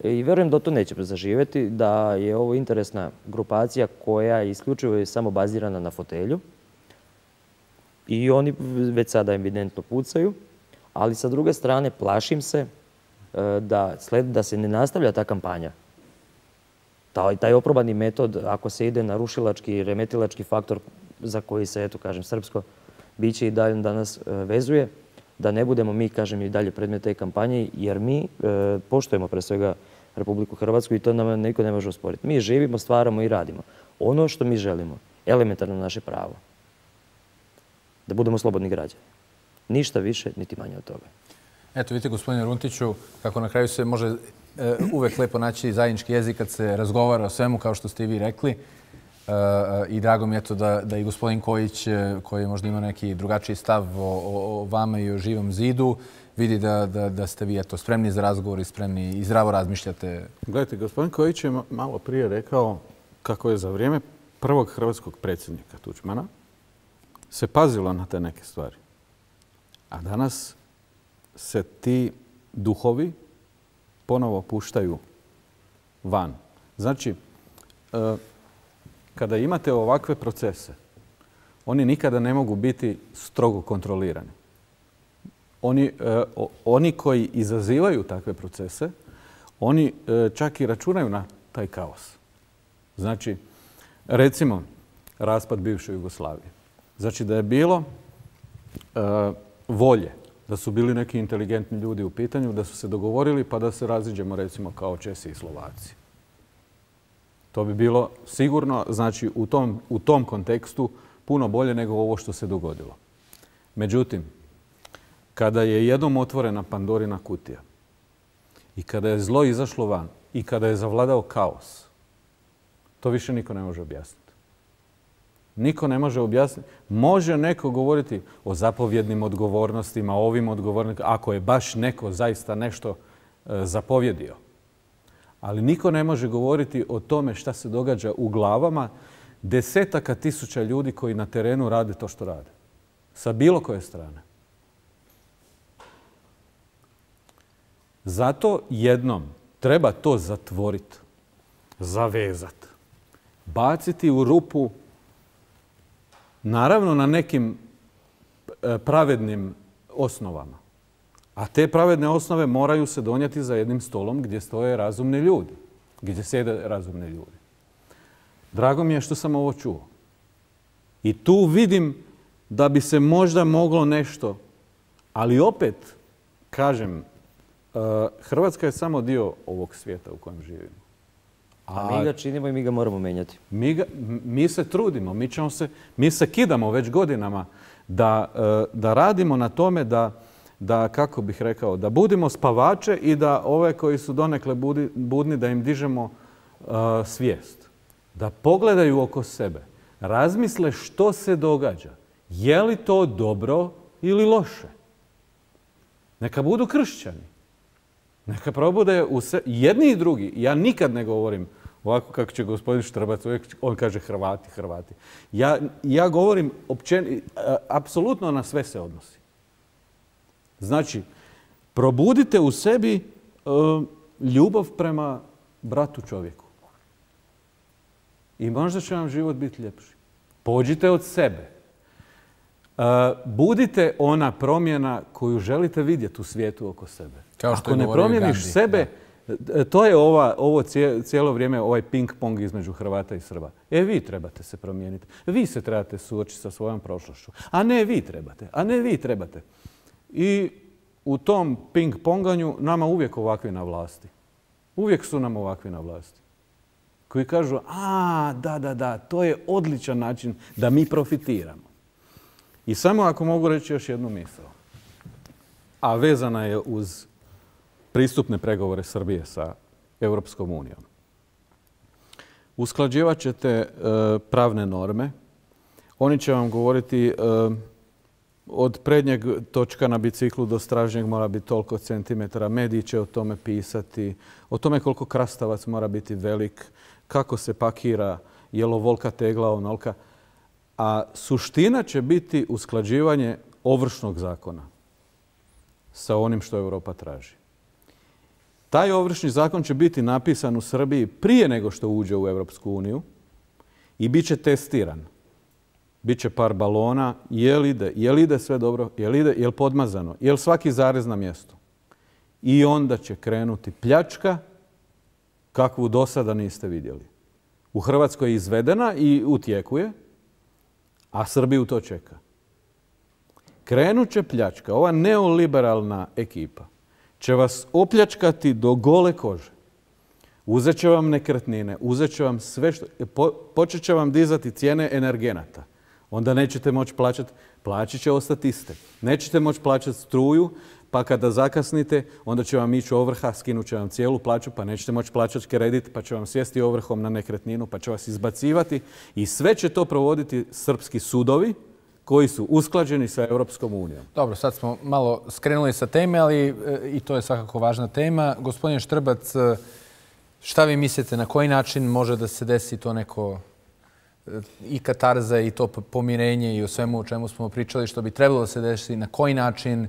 I verujem da to neće zaživjeti, da je ovo interesna grupacija koja je isključivo samo bazirana na fotelju. I oni već sada evidentno pucaju, ali sa druge strane plašim se da se ne nastavlja ta kampanja. Taj oprobani metod, ako se ide na rušilački, remetilački faktor za koji se, eto kažem, srpsko biće i dalje danas vezuje, da ne budemo mi, kažem, i dalje predmet te kampanje, jer mi poštujemo pre svega Republiku Hrvatsku i to nam niko ne može osporiti. Mi živimo, stvaramo i radimo. Ono što mi želimo, elementarno naše pravo, da budemo slobodni građani. Ništa više, niti manje od toga. Eto, vidite, gospodine Runtiću, kako na kraju se može uvek lepo naći zajednički jezik kad se razgovara o svemu, kao što ste i vi rekli. I drago mi je to da i gospodin Kojić, koji možda ima neki drugačiji stav o vama i o Živom zidu, vidi da ste vi spremni za razgovor i spremni i zdravo razmišljate. Gledajte, gospodin Kojić je malo prije rekao kako je za vrijeme prvog hrvatskog predsjednika Tuđmana se pazilo na te neke stvari. A danas se ti duhovi ponovo puštaju van. Znači, kada imate ovakve procese, oni nikada ne mogu biti strogo kontrolirani. Oni koji izazivaju takve procese, oni čak i računaju na taj kaos. Znači, recimo, raspad bivše Jugoslavije. Znači da je bilo volje, da su bili neki inteligentni ljudi u pitanju, da su se dogovorili pa da se raziđemo recimo kao Česi i Slovaci. To bi bilo sigurno, znači u tom kontekstu puno bolje nego ovo što se dogodilo. Međutim, kada je jednom otvorena Pandorina kutija i kada je zlo izašlo van i kada je zavladao kaos, to više niko ne može objasniti. Niko ne može objasniti. Može neko govoriti o zapovjednim odgovornostima, ovim odgovornostima, ako je baš neko zaista nešto zapovjedio. Ali niko ne može govoriti o tome šta se događa u glavama desetaka tisuća ljudi koji na terenu rade to što rade. Sa bilo koje strane. Zato jednom treba to zatvoriti, zavezati, baciti u rupu, naravno na nekim pravednim osnovama. A te pravedne osnove moraju se donijeti za jednim stolom gdje stoje razumni ljudi, gdje sjede razumni ljudi. Drago mi je što sam ovo čuo. I tu vidim da bi se možda moglo nešto, ali opet, kažem, Hrvatska je samo dio ovog svijeta u kojem živimo. A mi ga činimo i mi ga moramo menjati. Mi se trudimo, mi se kidamo već godinama da radimo na tome da, kako bih rekao, da budimo spavače i da ove koji su donekle budni, da im dižemo svijest. Da pogledaju oko sebe, razmisle što se događa. Je li to dobro ili loše? Neka budu kršćani. Neka probude jedni i drugi. Ja nikad ne govorim ovako kako će gospodin Štrbac, on kaže Hrvati, Hrvati. Ja govorim apsolutno na sve se odnosi. Znači, probudite u sebi ljubav prema bratu čovjeku. I možda će vam život biti ljepši. Pođite od sebe. Budite ona promjena koju želite vidjeti u svijetu oko sebe. Ako ne promijeniš sebe, to je ovo cijelo vrijeme ovaj ping-pong između Hrvata i Srba. Vi trebate se promijeniti. Vi se trebate suočiti sa svojom prošlošću. A ne vi trebate. A ne vi trebate. I u tom ping-ponganju nama uvijek ovakvi na vlasti. Uvijek su nam ovakvi na vlasti. Koji kažu, da, to je odličan način da mi profitiramo. I samo ako mogu reći još jednu misao, a vezana je uz pristupne pregovore Srbije sa Europskom unijom. Usklađivat ćete pravne norme. Oni će vam govoriti od prednjeg točka na biciklu do stražnjeg mora biti toliko centimetara. Mediji će o tome pisati, o tome koliko krastavac mora biti velik, kako se pakira, je li ovolika tegla, onolika. A suština će biti usklađivanje ovršnog zakona sa onim što Europa traži. Taj ovršni zakon će biti napisan u Srbiji prije nego što uđe u Europsku uniju i bit će testiran. Biće par balona, je li ide sve dobro, je li podmazano, je li svaki zarez na mjestu. I onda će krenuti pljačka kakvu do sada niste vidjeli. U Hrvatskoj je izvedena i u tijeku je, a Srbiju to čeka. Krenut će pljačka. Ova neoliberalna ekipa će vas opljačkati do gole kože. Uzet će vam nekretnine, uzet će vam sve što... Počet će vam dizati cijene energenata. Onda nećete moći plaćati, plaće će ostati iste. Nećete moći plaćati struju, pa kada zakasnite, onda će vam ići ovrha, skinut će vam cijelu plaću, pa nećete moći plaćati kredit, pa će vam sjesti ovrhom na nekretninu, pa će vas izbacivati. I sve će to provoditi srpski sudovi koji su usklađeni sa Europskom unijom. Dobro, sad smo malo skrenuli sa teme, ali i to je svakako važna tema. Gospodin Štrbac, šta vi mislite, na koji način može da se desi to neko i katarza i to pomirenje i o svemu o čemu smo pričali, što bi trebalo da se desi, na koji način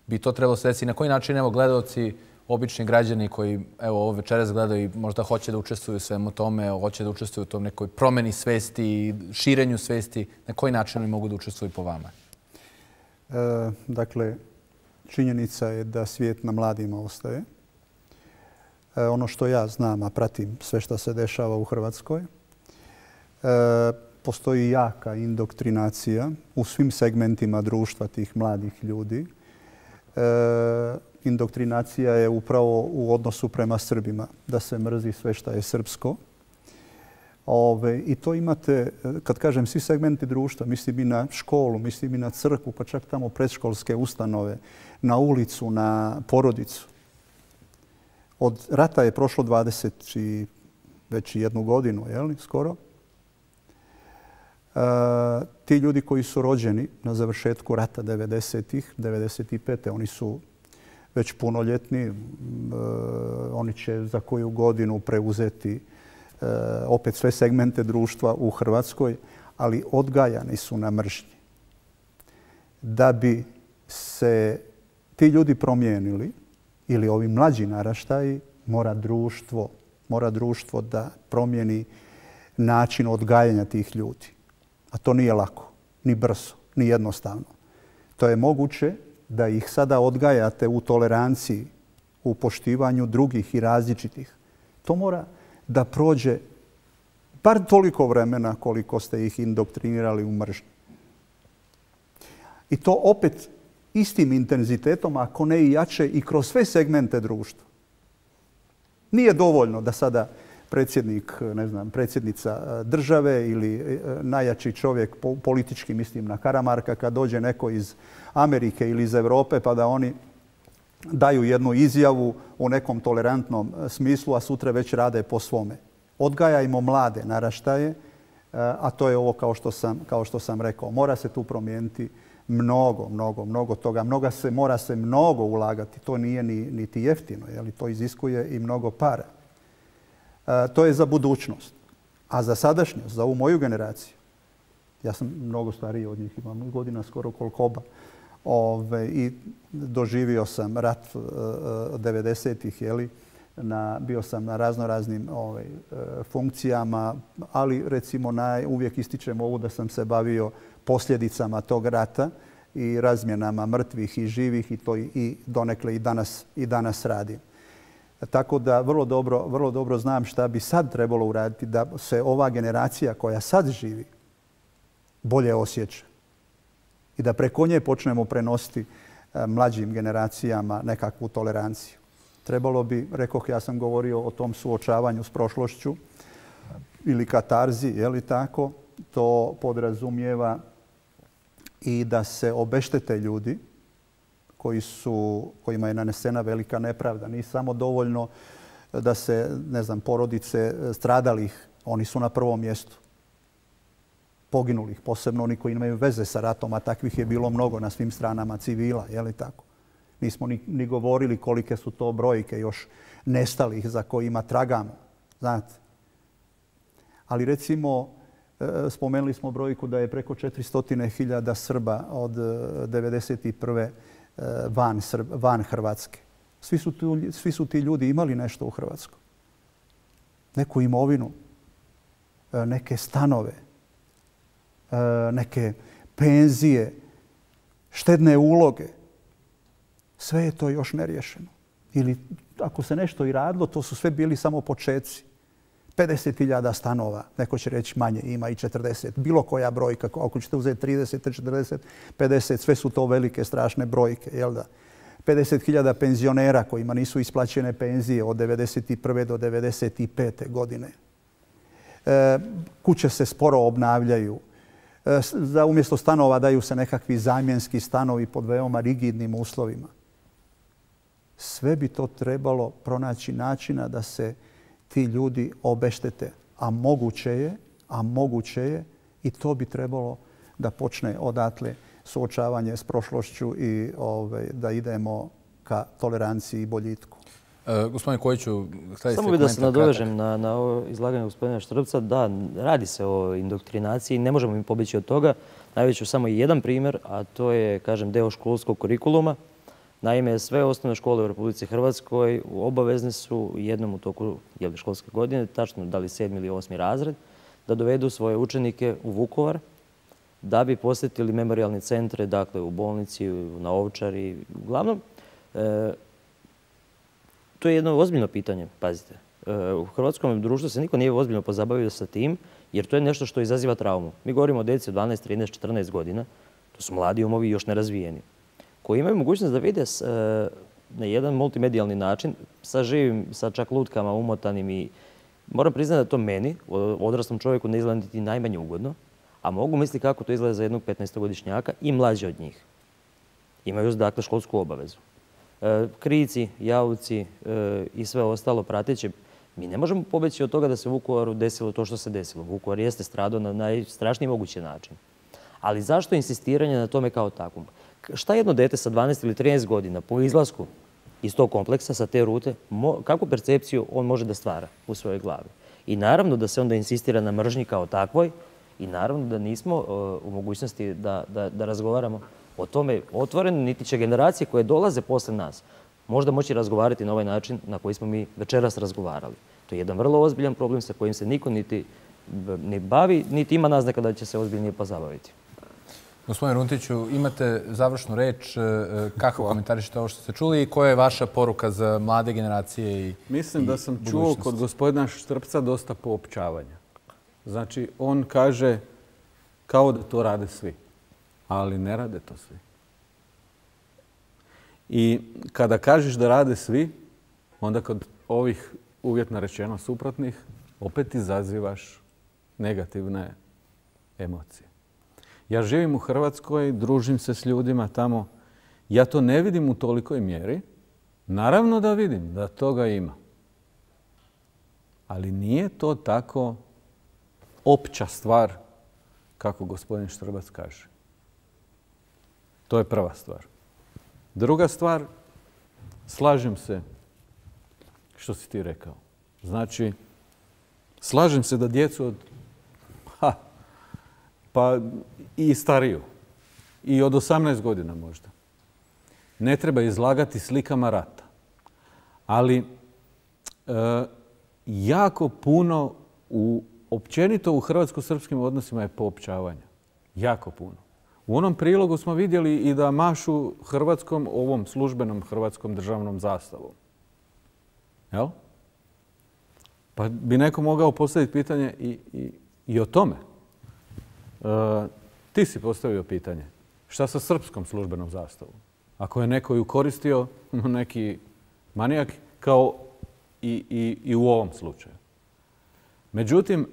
bi to trebalo se desiti, na koji način, evo, gledaoci, obični građani koji, evo, ovo večeras gledaju i možda hoće da učestvuju u svemu tome, hoće da učestvuju u tom nekoj promjeni svesti i širenju svesti, na koji način oni mogu da učestvuju po vama? Dakle, činjenica je da svijet na mladima ostaje. Ono što ja znam, a pratim sve što se dešava u Hrvatskoj, postoji jaka indoktrinacija u svim segmentima društva tih mladih ljudi. Indoktrinacija je upravo u odnosu prema Srbima, da se mrzi sve što je srpsko. I to imate, kad kažem svi segmenti društva, mislim i na školu, mislim i na crkvu, pa čak tamo predškolske ustanove, na ulicu, na porodicu. Od rata je prošlo 21 godinu, skoro. Ti ljudi koji su rođeni na završetku rata 90-ih, 95. oni su već punoljetni. Oni će za koju godinu preuzeti opet sve segmente društva u Hrvatskoj, ali odgajani su na mržnji. Da bi se ti ljudi promijenili, ili ovi mlađi naraštaji, mora društvo da promijeni način odgajanja tih ljudi. A to nije lako, ni brzo, ni jednostavno. To je moguće da ih sada odgajate u toleranciji, u poštivanju drugih i različitih. To mora da prođe bar toliko vremena koliko ste ih indoktrinirali u mržnji. I to opet istim intenzitetom, ako ne i jače, i kroz sve segmente društva. Nije dovoljno da sada predsjednik, predsjednica države ili najjači čovjek politički, mislim na Karamarka, kad dođe neko iz Amerike ili iz Europe, pa da oni daju jednu izjavu u nekom tolerantnom smislu, a sutra već rade po svome. Odgajajmo mlade naraštaje, a to je ovo kao što sam rekao. Mora se tu promijeniti mnogo toga. Mora se mnogo ulagati. To nije niti jeftino, to iziskuje i mnogo para. To je za budućnost. A za sadašnjost, za ovu moju generaciju, ja sam mnogo stariji od njih, imam godina skoro koliko oba, i doživio sam rat 90-ih, bio sam na raznoraznim funkcijama, ali recimo uvijek ističem ovo da sam se bavio posljedicama tog rata i razmjenama mrtvih i živih i to i donekle i danas radim. Tako da vrlo dobro znam šta bi sad trebalo uraditi da se ova generacija koja sad živi bolje osjeća i da preko nje počnemo prenositi mlađim generacijama nekakvu toleranciju. Trebalo bi, rekoh, ja sam govorio o tom suočavanju s prošlošću ili katarzi, je li tako? To podrazumijeva i da se obeštete ljudi kojima je nanesena velika nepravda. Nije samo dovoljno da se, porodice stradalih, oni su na prvom mjestu. Poginulih, posebno oni koji imaju veze sa ratom, a takvih je bilo mnogo na svim stranama civila, je li tako? Nismo ni govorili kolike su to brojke još nestalih za kojima tragamo, znate. Ali recimo, spomenuli smo brojku da je preko 400.000 Srba od 1991. van Hrvatske. Svi su ti ljudi imali nešto u Hrvatskoj. Neku imovinu, neke stanove, neke penzije, štedne uloge. Sve je to još neriješeno. Ili ako se nešto i radilo, to su sve bili samo početci. 50.000 stanova, neko će reći manje, ima i 40. Bilo koja brojka, ako ćete uzeti 30, 40, 50, sve su to velike, strašne brojke, jel da? 50.000 penzionera kojima nisu isplaćene penzije od 1991. do 1995. godine. Kuće se sporo obnavljaju. Umjesto stanova daju se nekakvi zamjenski stanovi pod veoma rigidnim uslovima. Sve bi to trebalo pronaći načina da se ti ljudi obeštete. A moguće je i to bi trebalo da počne odatle suočavanje s prošlošću i da idemo ka toleranciji i boljitku. Gospodine Kojiću, samo bih da se nadovežem na ovo izlaganje gospodina Štrbca. Da, radi se o indoktrinaciji, ne možemo im pobjeći od toga. Navešću samo jedan primjer, a to je, kažem, deo školskog kurikuluma. Naime, sve osnovne škole u Republici Hrvatskoj obavezne su jednom u toku školske godine, tačno da li 7. ili 8. razred, da dovedu svoje učenike u Vukovar da bi posjetili memorijalne centre, dakle u bolnici, na Ovčari. Uglavnom, to je jedno ozbiljno pitanje, pazite. U hrvatskom društvu se niko nije ozbiljno pozabavio sa tim, jer to je nešto što izaziva traumu. Mi govorimo o djeci od 12, 13, 14 godina. To su mladi umovi i još nerazvijeni, koji imaju mogućnost da vide na jedan multimedijalni način sa živim, sa čak lutkama umotanim i moram priznati da to meni, odraslom čovjeku, ne izgleda niti najmanje ugodno, a mogu misliti kako to izgleda za jednog 15-godišnjaka i mlađe od njih. Imaju dakle školsku obavezu. Krici, jauci i sve ostalo prateće. Mi ne možemo pobjeći od toga da se u Vukovaru desilo to što se desilo. Vukovar jeste stradao na najstrašniji mogući način. Ali zašto insistiranje na tome kao takvom? Šta jedno dete sa 12 ili 13 godina po izlasku iz tog kompleksa, sa te rute, kakvu percepciju on može da stvara u svojoj glavi? I naravno da se onda insistira na mržnji kao takvoj i naravno da nismo u mogućnosti da razgovaramo o tome otvoreno, niti će generacije koje dolaze posle nas možda moći razgovarati na ovaj način na koji smo mi večeras razgovarali. To je jedan vrlo ozbiljan problem sa kojim se niko niti ne bavi, niti ima naznaka da će se ozbiljnije pozabaviti. Gospodine Runtiću, imate završnu reč. Kako komentarišete ovo što ste čuli i koja je vaša poruka za mlade generacije i budućnost? Mislim da sam čuo kod gospodina Štrbca dosta poopćavanja. Znači, on kaže kao da to rade svi, ali ne rade to svi. I kada kažeš da rade svi, onda kod ovih uvjetno rečeno suprotnih opet izazivaš negativne emocije. Ja živim u Hrvatskoj, družim se s ljudima tamo. Ja to ne vidim u tolikoj mjeri. Naravno da vidim da toga ima. Ali nije to tako opća stvar kako gospodin Štrbac kaže. To je prva stvar. Druga stvar, slažem se što si ti rekao. Znači, slažem se da djecu od pa i stariju, i od 18 godina možda, ne treba izlagati slikama rata. Ali jako puno općenito u hrvatsko-srpskim odnosima je poopćavanja. Jako puno. U onom prilogu smo vidjeli i da mašu hrvatskom, ovom službenom hrvatskom državnom zastavom. Jel? Pa bi neko mogao postaviti pitanje i o tome. Ti si postavio pitanje. Šta sa srpskom službenom zastavom? Ako je neko ju koristio, neki manijak, kao i u ovom slučaju. Međutim,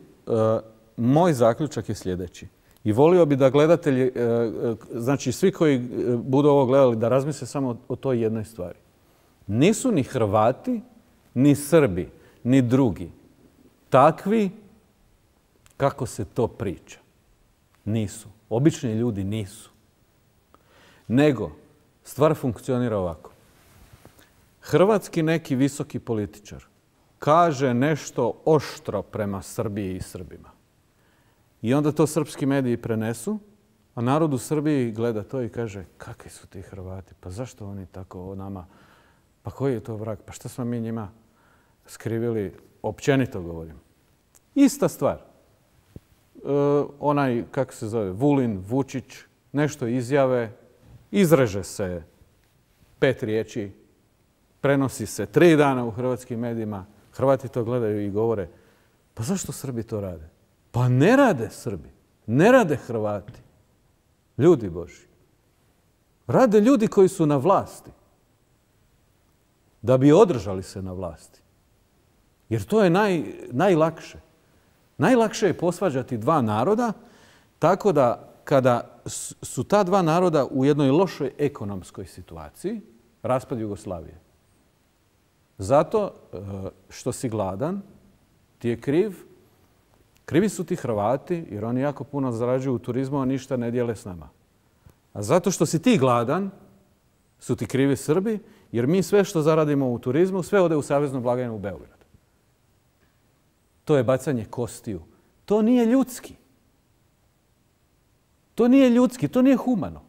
moj zaključak je sljedeći. I volio bi da gledatelji, znači svi koji budu ovo gledali, da razmisle samo o toj jednoj stvari. Nisu ni Hrvati, ni Srbi, ni drugi takvi kako se to priča. Nisu. Obični ljudi nisu. Nego, stvar funkcionira ovako. Hrvatski neki visoki političar kaže nešto oštro prema Srbiji i Srbima. I onda to srpski mediji prenesu, a narod u Srbiji gleda to i kaže kakvi su ti Hrvati, pa zašto oni tako o nama, pa koji je to vrag, pa šta smo mi njima skrivili, općenito govorim. Ista stvar. Onaj, kako se zove, Vulin, Vučić, nešto izjave, izreže se 5 riječi, prenosi se 3 dana u hrvatskim medijima, Hrvati to gledaju i govore, pa zašto Srbi to rade? Pa ne rade Srbi, ne rade Hrvati. Ljudi Božji. Rade ljudi koji su na vlasti. Da bi održali se na vlasti. Jer to je najlakše. Najlakše je posvađati 2 naroda tako da kada su ta 2 naroda u jednoj lošoj ekonomskoj situaciji, raspad Jugoslavije. Zato što si gladan, ti je kriv. Krivi su ti Hrvati jer oni jako puno zarađuju u turizmu, a ništa ne dijele s nama. A zato što si ti gladan, su ti krivi Srbi, jer mi sve što zaradimo u turizmu, sve ode u saveznu blagajnu u Beograd. To je bacanje kostiju. To nije ljudski. To nije ljudski, to nije humano.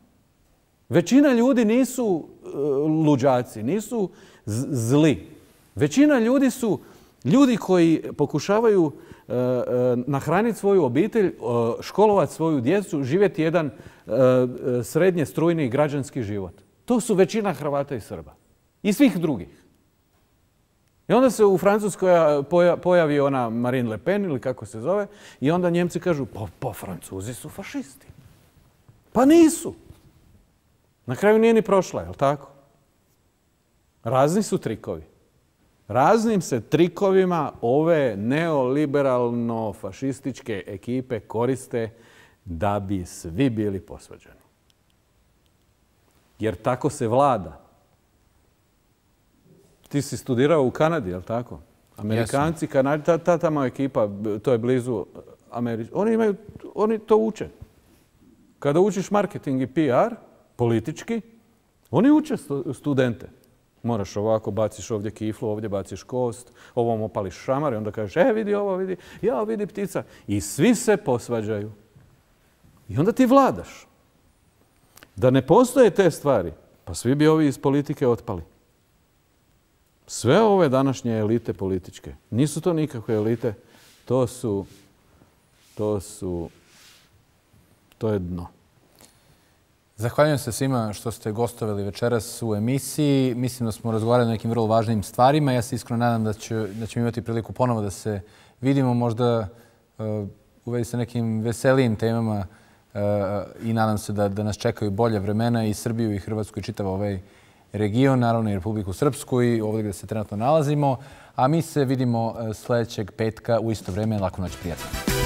Većina ljudi nisu luđaci, nisu zli. Većina ljudi su ljudi koji pokušavaju nahraniti svoju obitelj, školovati svoju djecu, živjeti jedan srednje strujni građanski život. To su većina Hrvata i Srba. I svih drugih. I onda se u Francuskoj pojavi ona Marine Le Pen ili kako se zove i onda Njemci kažu pa Francuzi su fašisti. Pa nisu. Na kraju nije ni prošla, je li tako? Razni su trikovi. Raznim se trikovima ove neoliberalno-fašističke ekipe koriste da bi svi bili posvađani. Jer tako se vlada. Ti si studirao u Kanadi, je li tako? Amerikanci, Kanadi, ta tamo ekipa, to je blizu Amerike. Oni to uče. Kada učiš marketing i PR, politički, oni uče studente. Moraš ovako, baciš ovdje kiflu, ovdje baciš kost, ovom opališ šamar i onda kažeš, vidi ovo, vidi, ja vidi ptica. I svi se posvađaju. I onda ti vladaš. Da ne postoje te stvari, pa svi bi ovi iz politike otpali. Sve ove današnje elite političke, nisu to nikakve elite, to je dno. Zahvaljujem se svima što ste gostovali večeras u emisiji. Mislim da smo razgovarali o nekim vrlo važnim stvarima. Ja se iskreno nadam da ćemo imati priliku ponovo da se vidimo, možda u vezi sa nekim veselijim temama i nadam se da nas čekaju bolje vremena i Srbiju i Hrvatsku i čitav ovaj region, naravno i Republiku Srpsku i ovdje gdje se trenutno nalazimo. A mi se vidimo sljedećeg petka u isto vrijeme. Laku noć, prijatno.